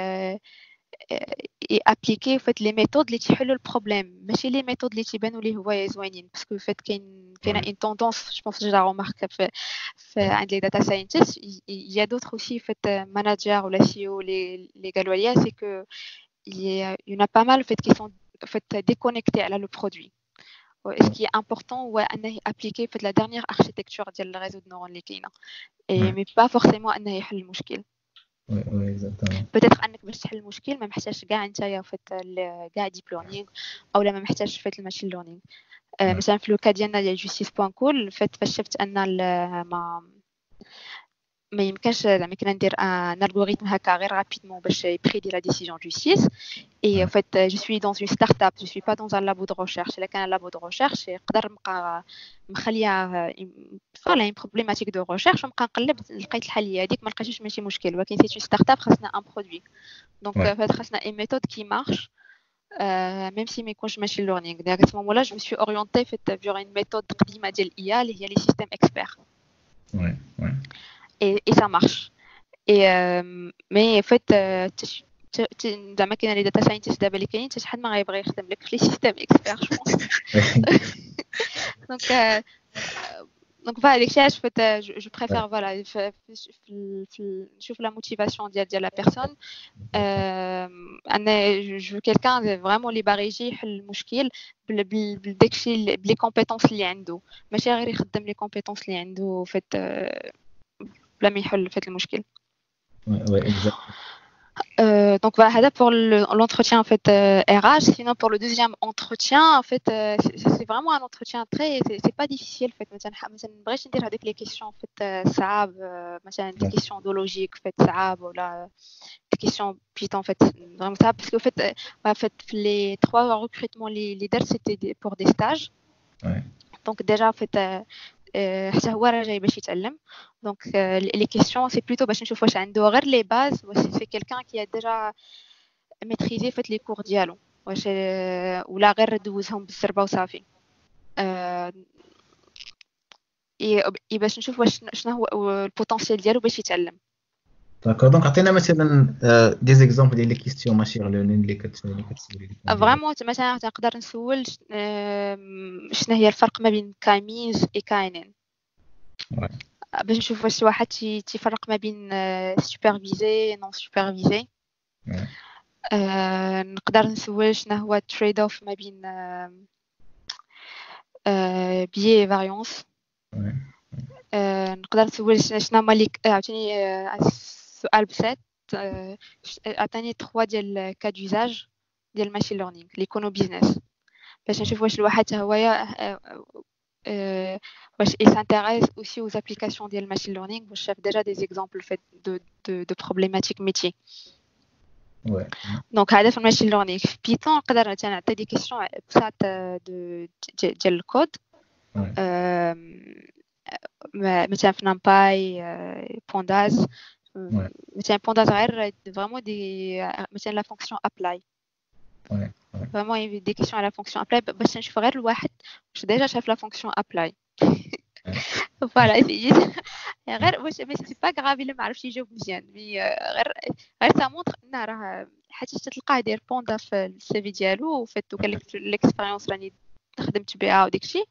appliquer en fait les méthodes اللي تيحلوا ال problème، ماشي les méthodes اللي تيبانوا ليه هو زوينين، parce que en fait كاين une tendance, je pense j'ai remarqué في عند les data scientists, il y a d'autres aussi en fait managers ولا CEO اللي قالوا لي c'est que il y en a pas mal en fait qui sont en fait déconnectés على le produit. Ce qui est important هو انه appliquer en fait la dernière architecture ديال ال réseau de neurones اللي كاينه et mais pas forcément انه يحل المشكل. Oui, exactement. Peut-être انك باش تحل المشكل ما محتاجش كاع نتايا en fait كاع deep learning او لا ما محتاجش en fait ال machine learning. مثلا في le cas ديالنا ديال Justice.Cool, en fait فاش شفت ان ما يمكنش زعما كنا ندير un algorithme هكا غير rapidement باش ي prédit la décision justice, et en fait je suis dans une start-up, je suis pas dans un labo de recherche. الا كان labo de recherche يقدر نبقى مخليه voilà une problématique de recherche ونبقى نقلب، لقيت الحل هذيك، ما لقيتوش ماشي مشكل، ولكن c'est une start-up خاصنا un produit, donc خاصنا une méthode qui marche même si ما يكونش machine learning. Donc à ce moment-là, je me suis orientée fait vers une méthode قديمة ديال l'IA اللي هي les systèmes experts. Et ça marche. Et mais en fait, زعما كاين les data scientists دابا اللي كاينين حتى شحال ما غيبغي يخدم لك في les systèmes experts, je pense. Donc Donc voilà, داكشي علاش فات je préfère, voilà, نشوف la motivation ديال la personne. انا je veux quelqu'un vraiment اللي باغي يجي يحل المشكل بداكشي, ب les compétences اللي عنده, ماشي غير يخدم les compétences اللي عنده فات بلا ما يحل فات المشكل. Oui, exact. Donc voilà, هذا pour l'entretien en fait RH. Sinon, pour le deuxième entretien, en fait, c'est vraiment un entretien très, c'est pas difficile en fait. مثلا ما بغيتش ندير هذوك les questions en fait صعاب, مثلا des questions de logique en fait صعاب ولا des questions Python en fait vraiment ça, parce que en fait les trois recrutements اللي درت, c'était pour des stages. Donc déjà, en fait, حتى هو راه جاي باش يتعلم, donc les questions, c'est plutôt باش نشوف واش عنده غير les bases, واش c'est quelqu'un qui a déjà maîtrisé فات les cours ديالو, واش ولا غير دوزهم بالزربه وصافي, et باش نشوف واش شنو هو ال potentiel ديالو باش يتعلم. D'accord, donc عطينا مثلا des exemples ديال les questions machine learning اللي كتسولي. Vraiment, مثلا نقدر نسول شنو هي الفرق ما بين K-means et KNN, باش نشوف واش واحد تيفرق ما بين supervisé, non supervisé. نقدر نسول شنو هو ال trade-off ما بين biais, variance. نقدر نسول شنو هما لي عاوتاني سؤال بسيط, عطاني 3 ديال cas d'usage ديال machine learning اللي يكونوا business, باش نشوف واش الواحد حتى هو واش il s'intéresse aussi aux applications ديال machine learning, واش شاف déjà des exemples fait de problématiques métiers. Donc هذا في ال machine learning. في Python نقدر مثلا نعطي des questions بساط ديال الكود, مثلا في NumPy, pandas, مثلا pandas غير vraiment des مثلا la fonction apply, vraiment des questions على fonction apply, باش نشوف غير الواحد واش déjà شاف la fonction apply. Voilà, غير واش, mais c'est pas grave الا ما عرفتش يجاوب مزيان, mais غير ça montre ان راه حيت تلقاه داير pandas في ال CV ديالو وفات قال لك l'expérience راني خدمت بها وداك الشيء,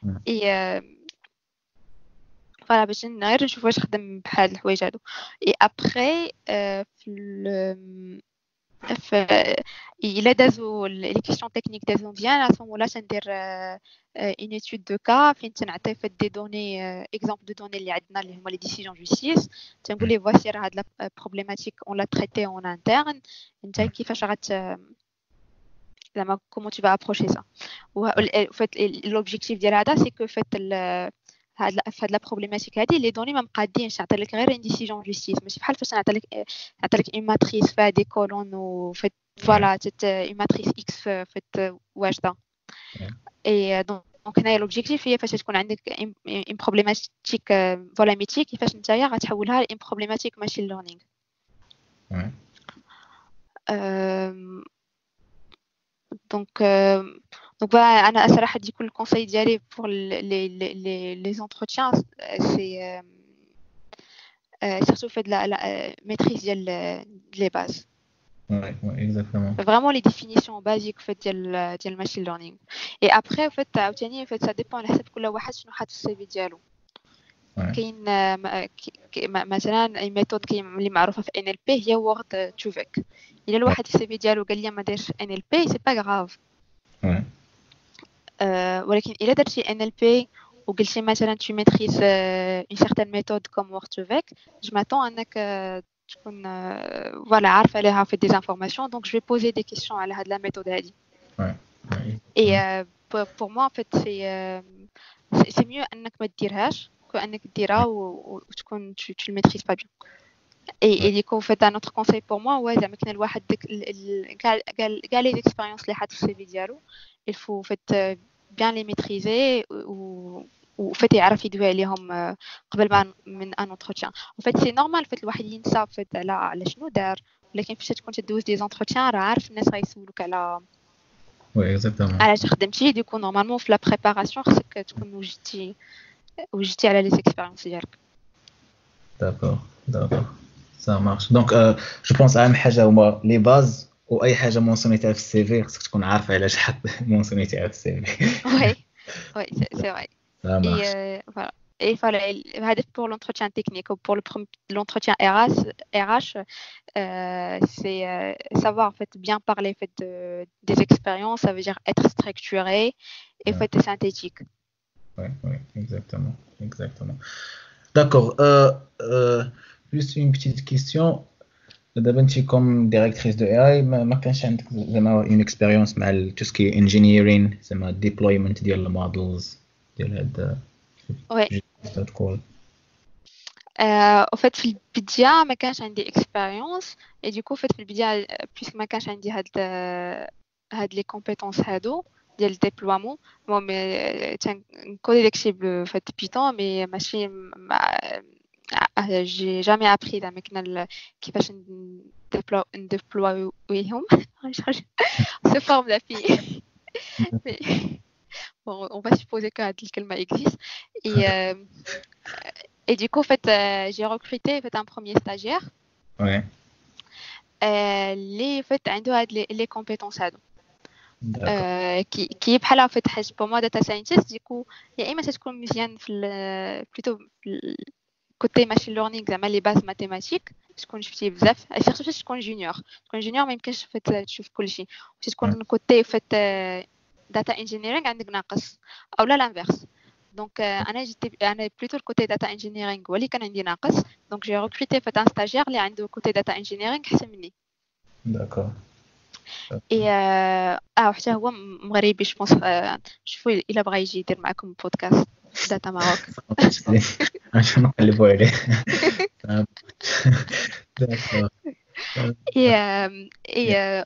et voilà, باش غير نشوف واش خدم بحال الحوايج هادو. Et après, في الا دازو les questions techniques دازو مزيان, à ce moment-là تندير une étude de cas فين تنعطي في des données, exemples de données اللي عندنا اللي هما les décisions justice. تنقول ليه voici راه هاد la problématique, on l'a traitée en interne, انت كيفاش غات زعما comment tu vas approcher ça. En fait, l'objectif ديال هذا, c'est que فات هاد la problématique هادي, les données ما مقادينش, نعطي لك غير une décision justice, ماشي بحال فاش نعطي لك une matrice فيها des colonnes و فات voilà, une matrice X فات واجده. Et donc هنايا l'objectif هي فاش تكون عندك une problématique, voilà, métier, كيفاش نتايا غتحولها ل une problématique machine learning. Donc voilà, انا صراحه du coup ال conseil ديالي pour les entretiens, c'est surtout fait de la maîtrise ديال les bases. Ouais, exactement. Vraiment les définitions basiques en fait ديال machine learning. Et après, en fait, عاوتاني en fait ça dépend على حسب كل واحد شنو حاط في ال CV ديالو. كاين مثلا une méthode كاين اللي معروفه في NLP هي word2vec. الا الواحد في ال CV ديالو قال لي ما دايرش NLP, c'est pas grave. ولكن الا درتي NLP وقلتي مثلا tu maîtrises une certaine méthode comme Word2Vec, je m'attends انك تكون voilà, عارفه عليها في des informations, donc je vais poser des questions على هاد la méthode هادي. Et pour moi, en fait, c'est mieux انك ما ديرهاش que انك ديرها وتكون tu le maîtrises pas bien. Et du coup, en fait, un autre conseil pour moi, ouais, زعما كاين الواحد ديك كاع les expériences اللي حاط في ال CV ديالو, il faut en fait bien les maîtriser و fait يعرف يدوي عليهم قبل ما من un entretien. En fait, c'est normal fait الواحد ينسى fait على شنو دار, ولكن فاش تكون تدوز des entretiens راه عارف الناس غيسولوك على Oui, exactement. علاش خدمتي. Du coup, normalement, في la préparation خصك تكون وجدتي على les expériences ديالك. D'accord. Ça marche. Donc, je pense أهم حاجة هما les bases, وأي حاجة مونسيونيتها في ال CV خصك تكون عارفة علاش حط مونسيونيتها في ال CV. Oui, c'est vrai. Ça Et marche. voilà. Et voilà, هذا pour l'entretien technique ou pour l'entretien RH, RH c'est savoir en fait bien parler en fait des expériences, ça veut dire être structuré et fait synthétique. Oui, oui, exactement, exactement. D'accord. Juste une petite question. دابا انت comme directrice de AI ما كانش عندك زعما une expérience مع tout ce qui est engineering زعما deployment ديال ال models ديال هاد Oui. تقول En fait في البداية ما كانش عندي expérience et du coup en fait في البداية puisque ما كانش عندي هاد les compétences هادو ديال déploiement, bon, mais تنكودي داكشي ب fait Python, mais ماشي j'ai jamais appris زعما كنا كيفاش نديبلويهم sous forme d'API. Bon, on va supposer que هاد الكلمة existe. Et du coup, en fait, j'ai recruté en fait, un premier stagiaire. اللي en fait عنده هاد les compétences هادو. Qui بحال en fait حاجة pour moi data scientist, du coup يا إما تكون مزيان في plutôt في côté machine learning زعما les bases mathématiques تكون شفتي بزاف, surtout فاش تكون junior, تكون junior ما يمكنش fait تشوف كلشي, تكون côté fait data engineering عندك ناقص او لا l'inverse. Donc انا j'étais انا plutôt ال côté data engineering هو اللي كان عندي ناقص, donc j'ai recruté fait un stagiaire اللي عنده côté data engineering احسن مني. Et وحتى هو مغربي, je pense. شوفوا الا بغى يجي يدير معكم podcast Data Maroc. عشان نقلبوا عليه. D'accord. Et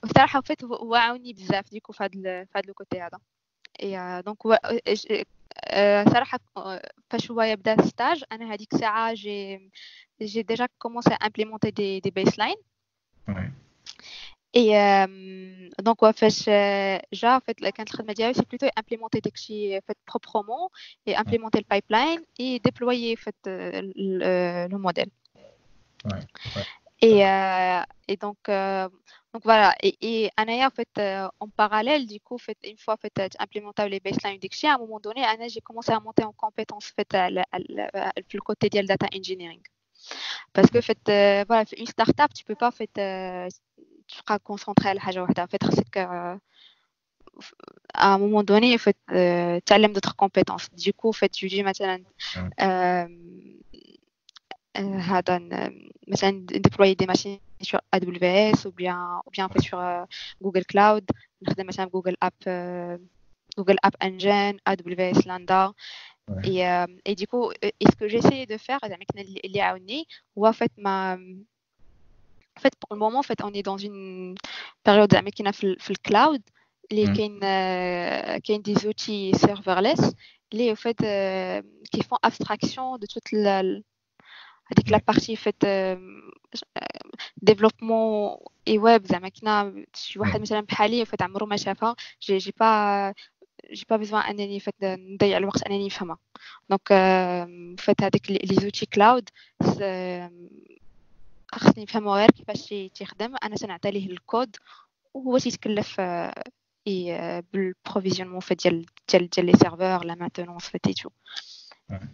بصراحه fait هو عاوني بزاف du coup في هاد le côté هذا. Et donc هو صراحه فاش هو يبدا stage انا هذيك الساعه j'ai déjà commencé à implémenter des baselines. Et donc فاش جا fait كانت الخدمه ديالي c'est plutôt implémenter داكشي fait proprement et implémenter le pipeline et déployer fait le modèle. Et donc voilà. Et أنايا, en fait, en parallèle, du coup, fait, une fois fait, implémenté les baselines داكشي, à un moment donné, أنا, j'ai commencé à monter en compétence fait, le côté ديال data engineering. Parce que fait, voilà, une startup, tu peux pas fait, تبقى concentré على حاجة واحدة. En fait, خصك à un moment donné, en fait, تعلم d'autres compétences. Du coup, en fait, tu dis مثلا هذا مثلا déployer des machines sur AWS ou bien en fait sur Google Cloud, نخدم مثلا Google App, Google App Engine, AWS Lambda. Et du coup, et ce que j'essayais de faire زعما كنا اللي عاوني هو en fait ما en fait pour le moment, en fait, on est dans une période زعما كاينه في ال cloud اللي كاين des outils serverless اللي en fait qui font abstraction de toute la هذيك la partie fait développement et web. زعما كنا شي واحد مثلا بحالي fait عمرو ما شافها, j'ai pas besoin انني fait نضيع الوقت انني نفهمها. Donc fait هذيك les outils cloud خصني نفهمو غير كيفاش تيخدم, انا تنعطي ليه الكود وهو تيتكلف بال provisionnement fait ديال les serveurs, la maintenance fait et tout.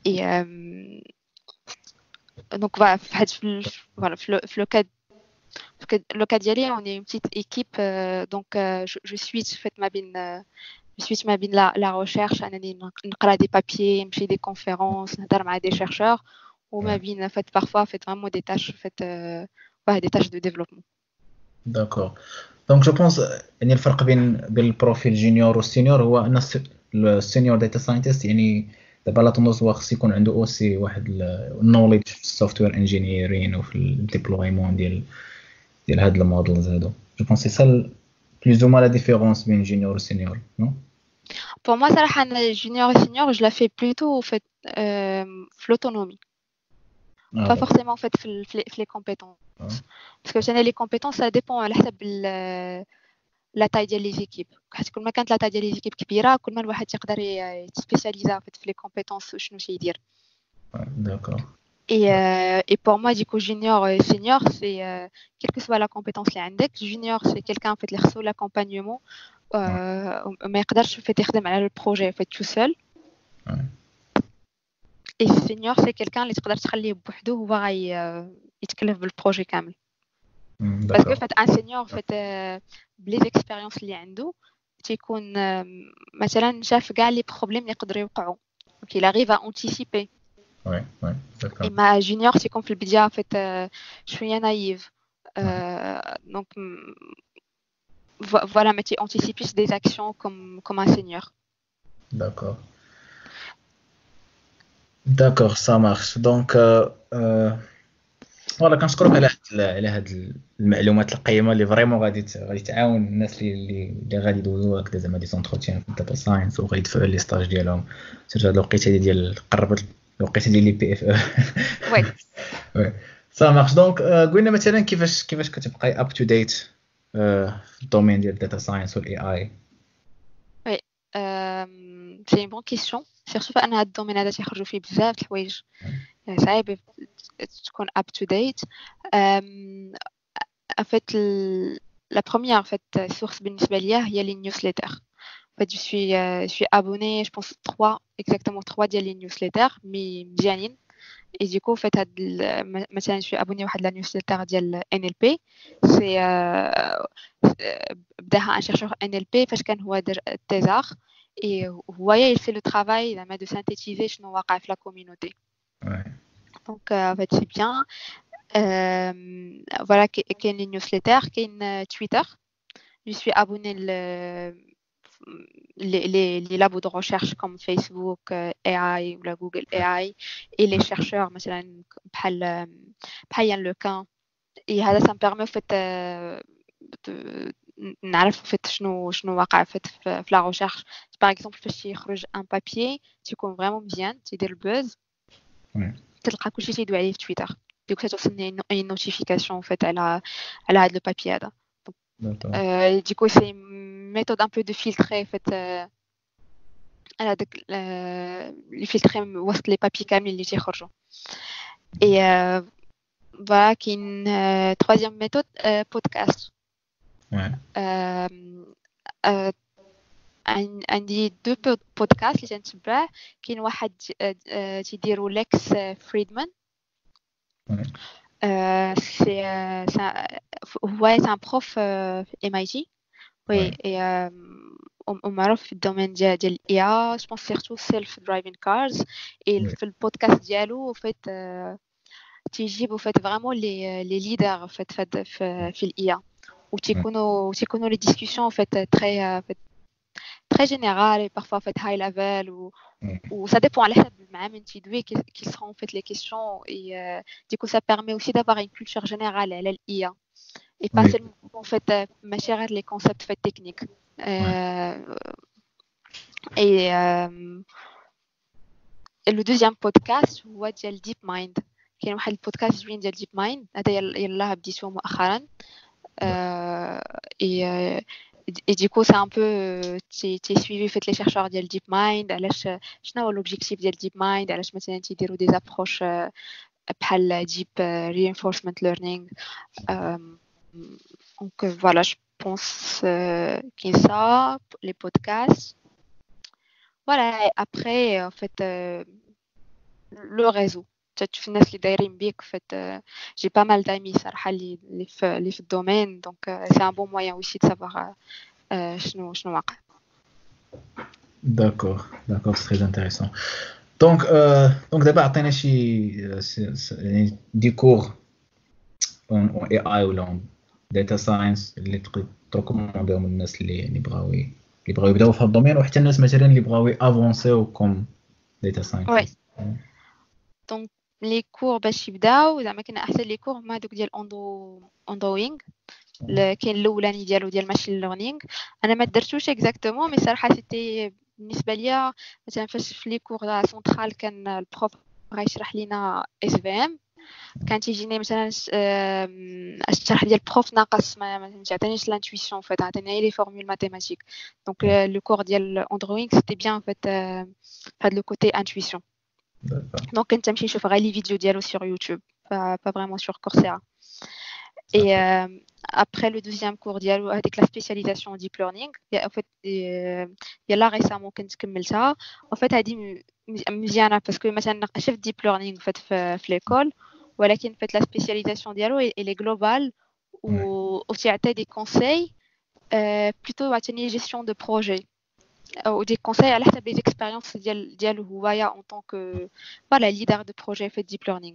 Et donc voilà, voilà, في le cas ديالي, on est une petite équipe, donc je suis fait ما بين je suis ما بين la recherche انني نقرا des papiers, نمشي des conférences, نهضر مع des chercheurs, وما بين fait parfois fait vraiment des tâches fait ouais, des tâches de développement. D'accord. Donc je pense يعني الفرق بين ال profil junior وال senior هو ان ال senior data scientist يعني دابا la tendance هو خص يكون عنده aussi واحد ال knowledge في ال software engineering وفي ال déploiement ديال هاد ال models هادو. Je pense c'est ça plus ou moins la différence بين junior و senior, non? Pour moi, صراحة أنا junior et senior, je la fais plutôt au fait في l'autonomie. Pas forcément en fait في les compétences. Parce que les compétences, ça dépend على حسب la taille ديال les équipes. حيت كل ما كانت la taille ديال les équipes كبيرة, كل ما الواحد يقدر يتسبيسياليزا en fait في les compétences شنو تيدير. D'accord. Et pour moi, du coup, junior et senior, c'est quelle que soit la compétence اللي عندك, junior, c'est quelqu'un en fait اللي خصو l'accompagnement, ما يقدرش fait يخدم على le projet en fait tout seul. Et senior, c'est quelqu'un اللي تقدر تخليه بوحدو، هو غاي يتكلف بال projet كامل. Parce que fait un senior, fait ب les expériences اللي عنده، تيكون مثلا شاف كاع les problèmes اللي يقدروا يوقعوا، donc il arrive à anticiper. Ouais, d'accord. اما junior تيكون في البدايه fait شويه naïf, donc voilà, ما تي anticipe ش des actions comme un senior. D'accord, ça marche. Donc voilà, كنشكرك على هاد المعلومات القيمه اللي vraiment غادي تعاون الناس اللي غادي يدوزو هكذا زعما des entretiens في ال data science وغيدفعوا les stages ديالهم، surtout هاد الوقيته ديال قربت الوقيته ديال les PFE. Oui. Oui, ça marche. Donc قلنا مثلا كيفاش كتبقاي up to date في ال domaine ديال ال data science وال AI؟ Oui, c'est une bonne question, surtout فان هاد ال domaine هذا تيخرجوا فيه بزاف د الحوايج، صعيب تكون up to date. En fait, la première en fait source بالنسبه ليا هي les newsletters. En fait, je suis abonnée, je pense trois, exactement trois ديال les newsletters, mais مزيانين. Et du coup, en fait, هاد مثلا je suis abonnée واحد la newsletter ديال NLP. C'est بداها un chercheur NLP فاش كان هو thésard et هو il fait le travail زعما de synthétiser شنو واقع في la communauté. Donc, en fait, c'est bien. Voilà, كاين les newsletters, كاين Twitter. Je suis abonnée les labos de recherche comme Facebook AI ولا Google AI et les chercheurs مثلا بحال Yann LeCun. Et هذا ça me permet en fait de نعرف en fait شنو واقع fait في la recherche. Par exemple, فاش يخرج un papier تيكون vraiment مزيان، تيدير ال buzz، تلقى كلشي تيدوي عليه في تويتر، du coup توصلني une notification en fait على هذا le papier هذا. Du coup, c'est une méthode un peu de filtrer en fait على داك les filtrer وسط les papiers كاملين اللي تيخرجوا. Et voilà, كاين troisième méthode, podcast. عندي deux podcasts اللي تنتبع. كاين واحد تيديرو Lex Fridman. C'est هو c'est un prof في MIT. Oui, et ومعروف في ال domaine ديال l'IA, je pense surtout self driving cars. Et في البودكاست ديالو fait تيجيبوا fait vraiment les leaders fait في l'IA، وتيكونوا les discussions fait très très générales et parfois fait high level ou ça dépend على حسب مع من تيدوي, qui seront en fait les questions. Et du coup, ça permet aussi d'avoir une culture générale على l'IA et pas seulement en fait ماشي غير les concepts fait techniques. Et le deuxième podcast هو ديال DeepMind. كاين واحد البودكاست زوين ديال DeepMind، هذا يلاه بديتو مؤخرا. Et du coup, c'est un peu تي suivi fait les chercheurs ديال DeepMind، علاش، شنو هو l'objectif ديال DeepMind، علاش مثلا تيديروا des approches بحال deep reinforcement learning. Donc voilà, je pense كاين ça, les podcasts, voilà. Et après, en fait, le réseau، تشوف الناس اللي دايرين بيك. Fait j'ai pas mal d'amis صراحه اللي في ال domaine, donc c'est un bon moyen aussi de savoir شنو واقع. D'accord, c'est très intéressant. Donc دابا عطينا شي يعني des cours en AI ولا en data science اللي تقدر ت recommander هم للناس اللي بغاو يبداو في هذا ال domaine، وحتى الناس مثلا اللي بغاو avancer comme data scientist. Donc les cours باش يبداو، زعما كاين احسن les cours هما دوك ديال Andrew Ng. كاين الاولاني ديالو ديال machine learning، انا ما درتوش exactement, mais صراحه c'était بالنسبه ليا مثلا فاش في les cours central كان ال prof غيشرح لينا SVM، كان تيجيني مثلا الشرح ديال ال prof ناقص، ما تعطينيش l'intuition, fait عطيني les formules mathématiques. Donc le cours ديال Andrew Ng, c'était bien fait هاد le côté intuition. Donc كنت تمشي نشوف غير les vidéos ديالو sur YouTube, pas vraiment sur Coursera. Et Après le deuxième cours ديالو هذيك la spécialisation deep learning en fait يلا récemment كنت كملتها. En fait هذه مزيانه parce que مثلا شفت deep learning en fait في l'école، ولكن fait la spécialisation ديالو elle est globale و تيعطي des conseils plutôt عاوتاني gestion de projet ou des conseils على حسب les expériences ديالو هوايا en tant que voilà leader de projet في deep learning.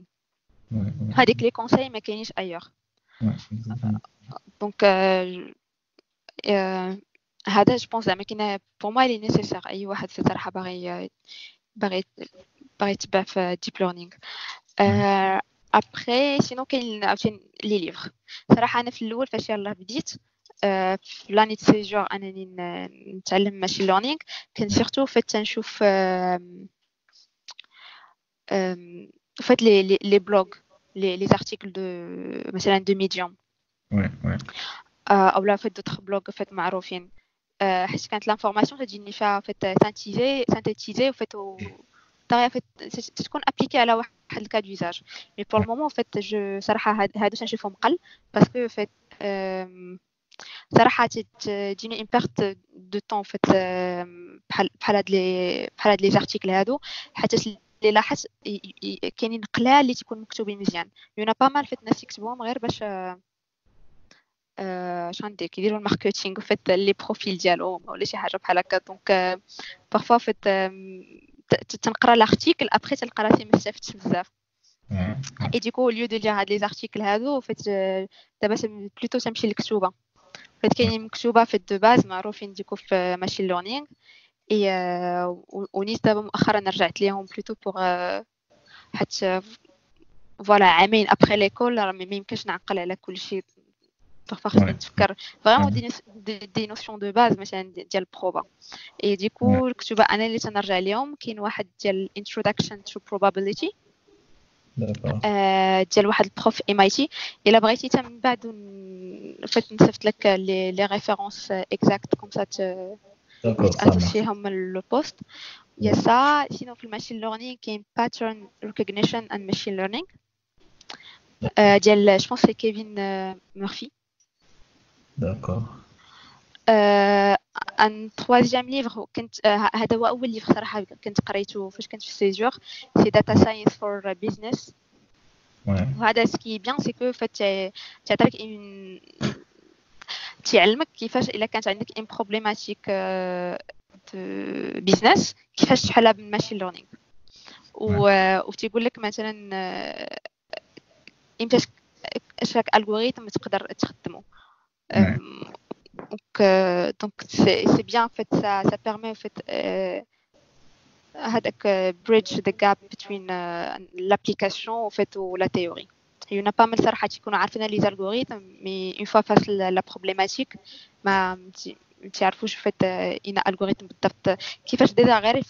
هذيك les conseils ما كاينينش ailleurs. Donc هذا je pense زعما كاين pour moi il est nécessaire اي واحد في الصراحه باغي يتبع في deep learning. Après sinon كاين عاوتاني les livres. صراحه انا في الاول فاش يلاه بديت في l'année de césure انني نتعلم machine learning، كنت surtout فات تنشوف فات les blogs، les articles de مثلا de Medium او لا فات d'autres blogs فات معروفين، حيت كانت l'information تجيني فيها فات synthétisée وفات الطريقه فات تكون appliquée على واحد ال cas d'usage. Mais pour le moment فات je صراحه هادو تنشوفهم قل parce que فات صراحه تجيني une perte de temps فات بحال هاد les articles هادو، حيت اللي لاحظت كاينين قلال اللي تيكون مكتوبين مزيان. Y en a pas mal فات الناس يكتبوهم غير باش اش غندير كيديروا ال marketing فات les profils ديالهم ولا شي حاجه بحال هكا. Donc parfois فات تنقرا l'article، après تلقى راسي ما استفدتش بزاف. Et du coup au lieu de lire هاد les articles هادو فات دابا plutôt تمشي للكتوبه. فات كاينين مكتوبه في de base معروفين du coup في machine learning et ونيت دابا مؤخرا رجعت ليهم plutôt pour حيت voilà عامين après l'école راه ما يمكنش نعقل على كل شيء. Parfois خصني نتفكر vraiment des notions de base مثلا ديال ال proba. Et du coup الكتوبه انا اللي تنرجع ليهم كاين واحد ديال introduction to probability ديال واحد ال prof MIT. الا بغيتي حتى من بعد فات نصيفط لك les références exactes comme ça تاسوسيهم le post. Y a ça. Sinon في ال machine learning كاين pattern recognition and machine learning ديال je pense c'est Kevin Murphy. D'accord. Un troisième livre كنت هذا هو اول livre صراحه كنت قريته فاش كنت في césure، c'est Data Science for Business. وهذا ce qui est bien c'est que فات تعطيك une تيعلمك كيفاش الا كانت عندك une problématique de business كيفاش تحلها بال machine learning، وتيقول لك مثلا امتى chaque algorithme تقدر تخدمه. Donc c'est bien en fait، ça permet en fait هذاك bridge the gap between l'application en fait ou la théorie. Il y en a pas mal صراحة تيكونوا عارفين les algorithmes، mais une fois face la problématique ما تعرفوش fait un algorithme بالضبط كيفاش déjà غير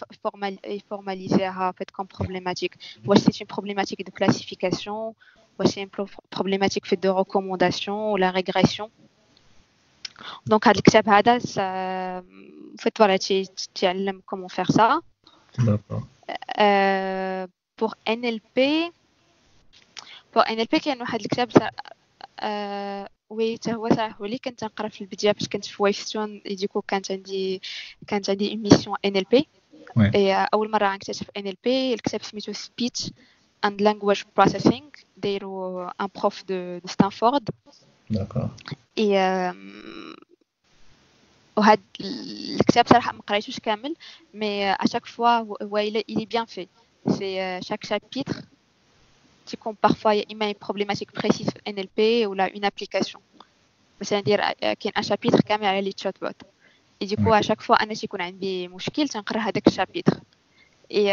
يفورماليزيها fait comme problématique، واش c'est une problématique de classification، واش c'est une problématique fait de recommandation ولا régression. Donc هذا الكتاب هذا fait voilà تيعلم comment faire ça. D'accord. Pour NLP كاين واحد الكتاب oui حتى هو صراحه هو اللي كنت نقرا في البدايه فاش كنت في Wavestone. Du coup كانت عندي une mission NLP اول مره غنكتشف NLP. الكتاب سميتو Speech and Language Processing، دايرو un prof de Stanford. D'accord. Et وهاد الكتاب صراحه ما قريتوش كامل، mais à chaque fois هو il est bien fait، c'est chaque chapitre تيكون parfois يا اما une problématique précise في NLP ولا une application. مثلا دير كاين un chapitre كامل على les chatbots et du coup à chaque fois انا تيكون عندي مشكل تنقرا هذاك ال chapitre. Et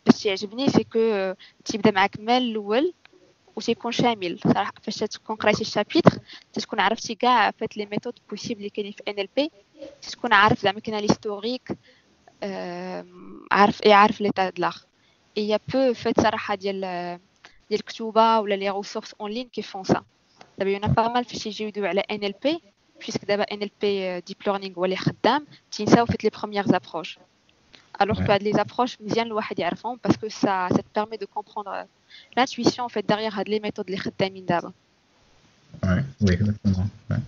باش تيعجبني c'est que تيبدا معاك من الاول وتيكون شامل. صراحه فاش تكون قريتي ال chapitre تكون عرفتي كاع فات les méthodes possibles اللي كاينين في NLP، تكون عارف زعما كاين l'historique، عارف l'état de l'art. Et y a peu فات صراحه ديال الكتوبه ولا les ressources en ligne qui font ça. دابا y en a pas mal فاش يجيو يدويو على NLP، puisque دابا NLP deep learning هو اللي خدام، تينساو فات les premières approches، alors que هاد les approches مزيان الواحد يعرفهم parce que ça te permet de comprendre l'intuition en fait derrière هاد les méthodes اللي خدامين دابا. Ouais, oui, exactement. Ouais.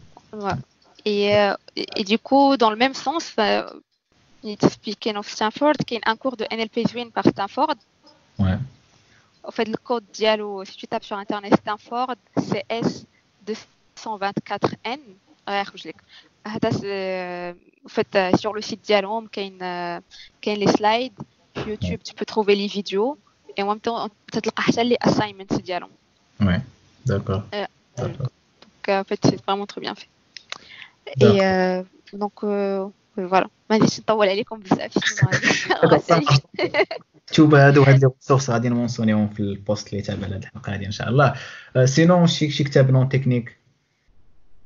Ouais. Et du coup, dans le même sens, كاين في ستانفورد كاين un cours de NLP زوين par Stanford. Ouais. En fait, le code ديالو, si tu tapes sur internet Stanford CS 224N غيخرج لك هذا. En fait, sur le site ديالهم كاين les slides في YouTube, tu peux trouver les vidéos et en même temps تتلقى حتى les assignments ديالهم. Ouais, d'accord. Donc en fait, c'est vraiment très bien fait. Et donc voilà, ما غاديش نطول عليكم بزاف. شوف هادو هاد les ressources غادي نمونسيونيهم في ال post اللي تابع لهاد الحلقه هادي ان شاء الله. Sinon شي كتاب non technique?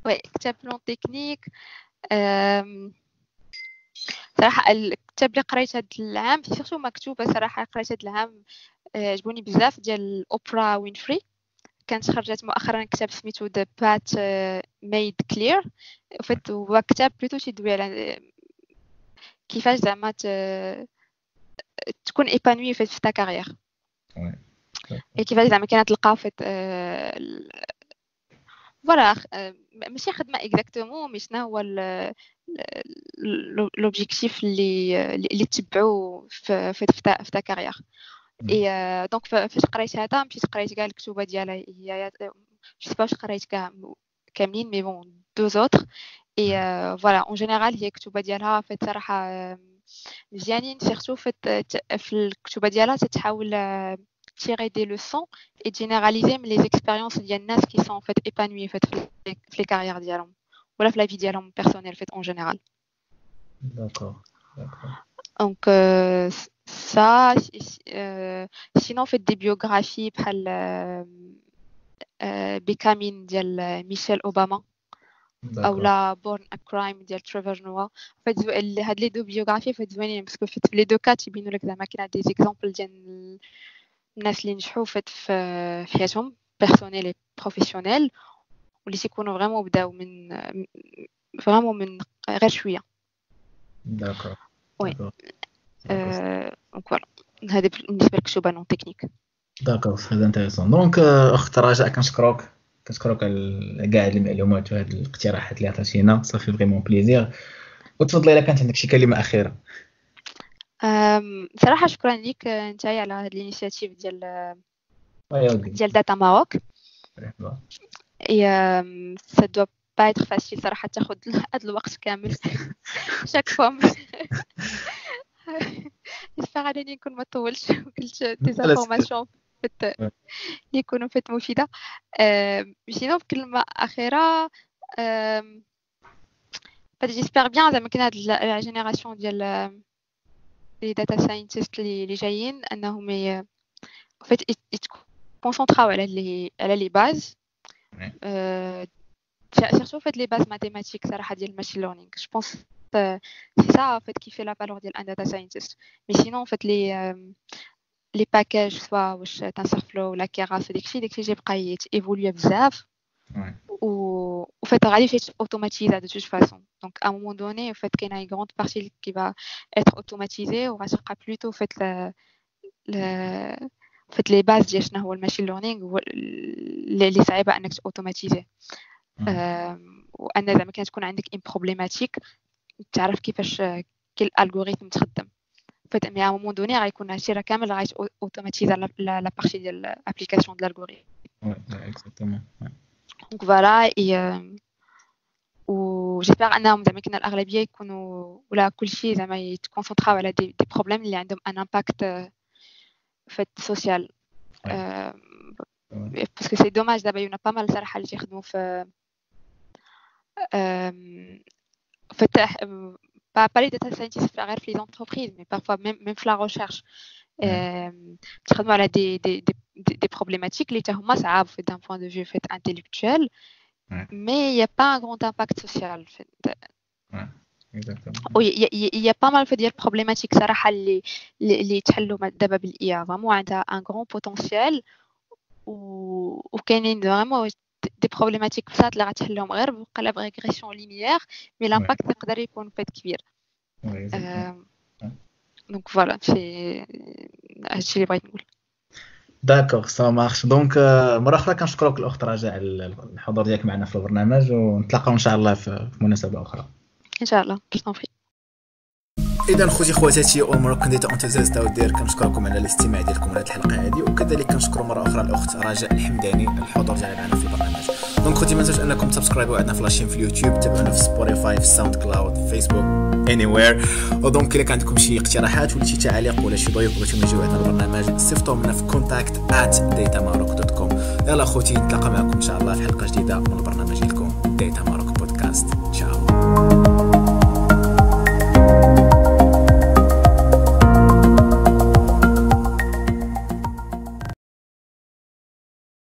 Oui, كتاب non technique, صراحه الكتاب اللي قريت هاد العام, surtout مكتوبه صراحه قريت هاد العام عجبوني بزاف ديال Oprah Winfrey. كانت خرجت مؤخرا كتاب سميتو The Path Made Clear. En fait, هو كتاب plutôt تيدوي على كيفاش زعما تكون épanoui في ta carrière et كيفاش زعما كاين تلقى en fait, voilà, ماشي خدمه exactement, mais شنو هو l'objectif اللي تبعو في ta carrière. Et donc فاش قريت هذا مشيت قريت كاع الكتوبه ديالها هي, je sais pas واش قريت كاع كاملين, mais bon, deux autres. Et voilà, en général هي الكتوبه ديالها en fait صراحه مزيانين, surtout في الكتوبه ديالها تتحاول tirer des leçons et généraliser les expériences ديال الناس qui sont en fait épanouis en fait في les carrières ديالهم ولا في la vie ديالهم personnelle en fait en général. D'accord. Donc ça, sinon en fait des biographies بحال Becoming ديال Michelle Obama او لا Born a Crime ديال Trevor Noah. En fait, هاد les deux biographies en fait زوينين parce que في les deux cas تيبينوا لك زعما كاين des exemples ديال الناس اللي نجحوا en fait في حياتهم personnelle et professionnelle واللي تيكونوا vraiment بداو من vraiment من غير شويه. D'accord. Oui, donc voilà, هذه بالنسبه للكتوبه non techniques. D'accord, très intéressant. Donc اخت رجاء كنشكروك على كاع هاد المعلومات وهاد الاقتراحات اللي عطيتينا, ça fait vraiment plaisir. وتفضلي الا كانت عندك شي كلمه اخيره. صراحه شكرا لك انت على هاد l'initiative ديال Data Maroc et ça doit pas être facile صراحه تاخذ هاد الوقت كامل chaque fois. J'espère انني نكون ما طولش وقلت des informations اللي يكونوا en fait مفيده. Sinon بكلمه اخيره, j'espère bien زعما كاين هاد la génération ديال les data scientists اللي جايين انهم en fait يتكونسونطراو على les bases, surtout en fait les bases mathématiques صراحه ديال ال machine learning. Je pense c'est ça en fait qui fait la valeur ديال un data scientist. Mais sinon, en fait, les packages, soit واش TensorFlow ولا Keras, داكشي يبقى évoluer بزاف و en fait غادي automatisé de toute façon. Donc à un moment donné, en fait, كاينه une grande partie qui va être automatisée وغتبقى plutôt en fait en fait les bases ديال شنو هو ال machine learning هو اللي صعيبه انك automatiser, وان زعما كانت تكون عندك une problématique تعرف كيفاش كل algorithme تخدم en fait. Mais à un moment donné غيكون هادشي راه كامل غايت automatiser la partie ديال l'application de l'algorithme. Ouais, exactement. Ouais. Donc voilà, et و j'espère انهم زعما كاين الاغلبيه يكونوا ولا كلشي زعما يتكونسونطراو على des problèmes اللي عندهم un impact en fait social, parce que c'est dommage دابا y en a pas mal صراحه اللي تيخدموا في fait pas les data scientists غير في les entreprises, mais parfois même في la recherche تخدموا على des problématiques اللي حتى هما صعاب في d'un point de vue fait intellectuel, mais il n'y a pas un grand impact social en fait. Ouais, exactement. Oui, il y a pas mal de problématiques صراحة اللي تحلوا دابا بال IA, vraiment عندها un grand potentiel وكاينين vraiment des problématiques بساط اللي غتحلهم غير بقلب régression linéaire, mais l'impact يقدر يكون en fait كبير. Donc voilà, c'est هادشي اللي بغيت نقول. D'accord, ça marche. Donc مرة اخرى كنشكرك الاخت رجاء على الحضور ديالك معنا في البرنامج، ونتلاقاو ان شاء الله في مناسبة اخرى. ان شاء الله، je t'en prie. اذا خوتي خواتاتي و Moroccan data enthusiasts out there، كنشكركم على الاستماع ديالكم لهذه الحلقة هذه، وكذلك كنشكر مرة اخرى الاخت رجاء الحمداني الحضور ديالها معنا في البرنامج. Donc خوتي، ما تنساوش انكم تسبسكرايبوا عندنا في la chaîne في اليوتيوب، تابعونا في Spotify، في SoundCloud، في Facebook، anywhere. و donc الا كان عندكم شي اقتراحات ولا شي تعاليق ولا شي ضيوف بغيتو يجيو عندنا البرنامج، صيفطوهم لنا في contact@datamaroc.com. يلا خوتي، نتلاقى معكم ان شاء الله في حلقة جديدة من البرنامج ديالكم Data.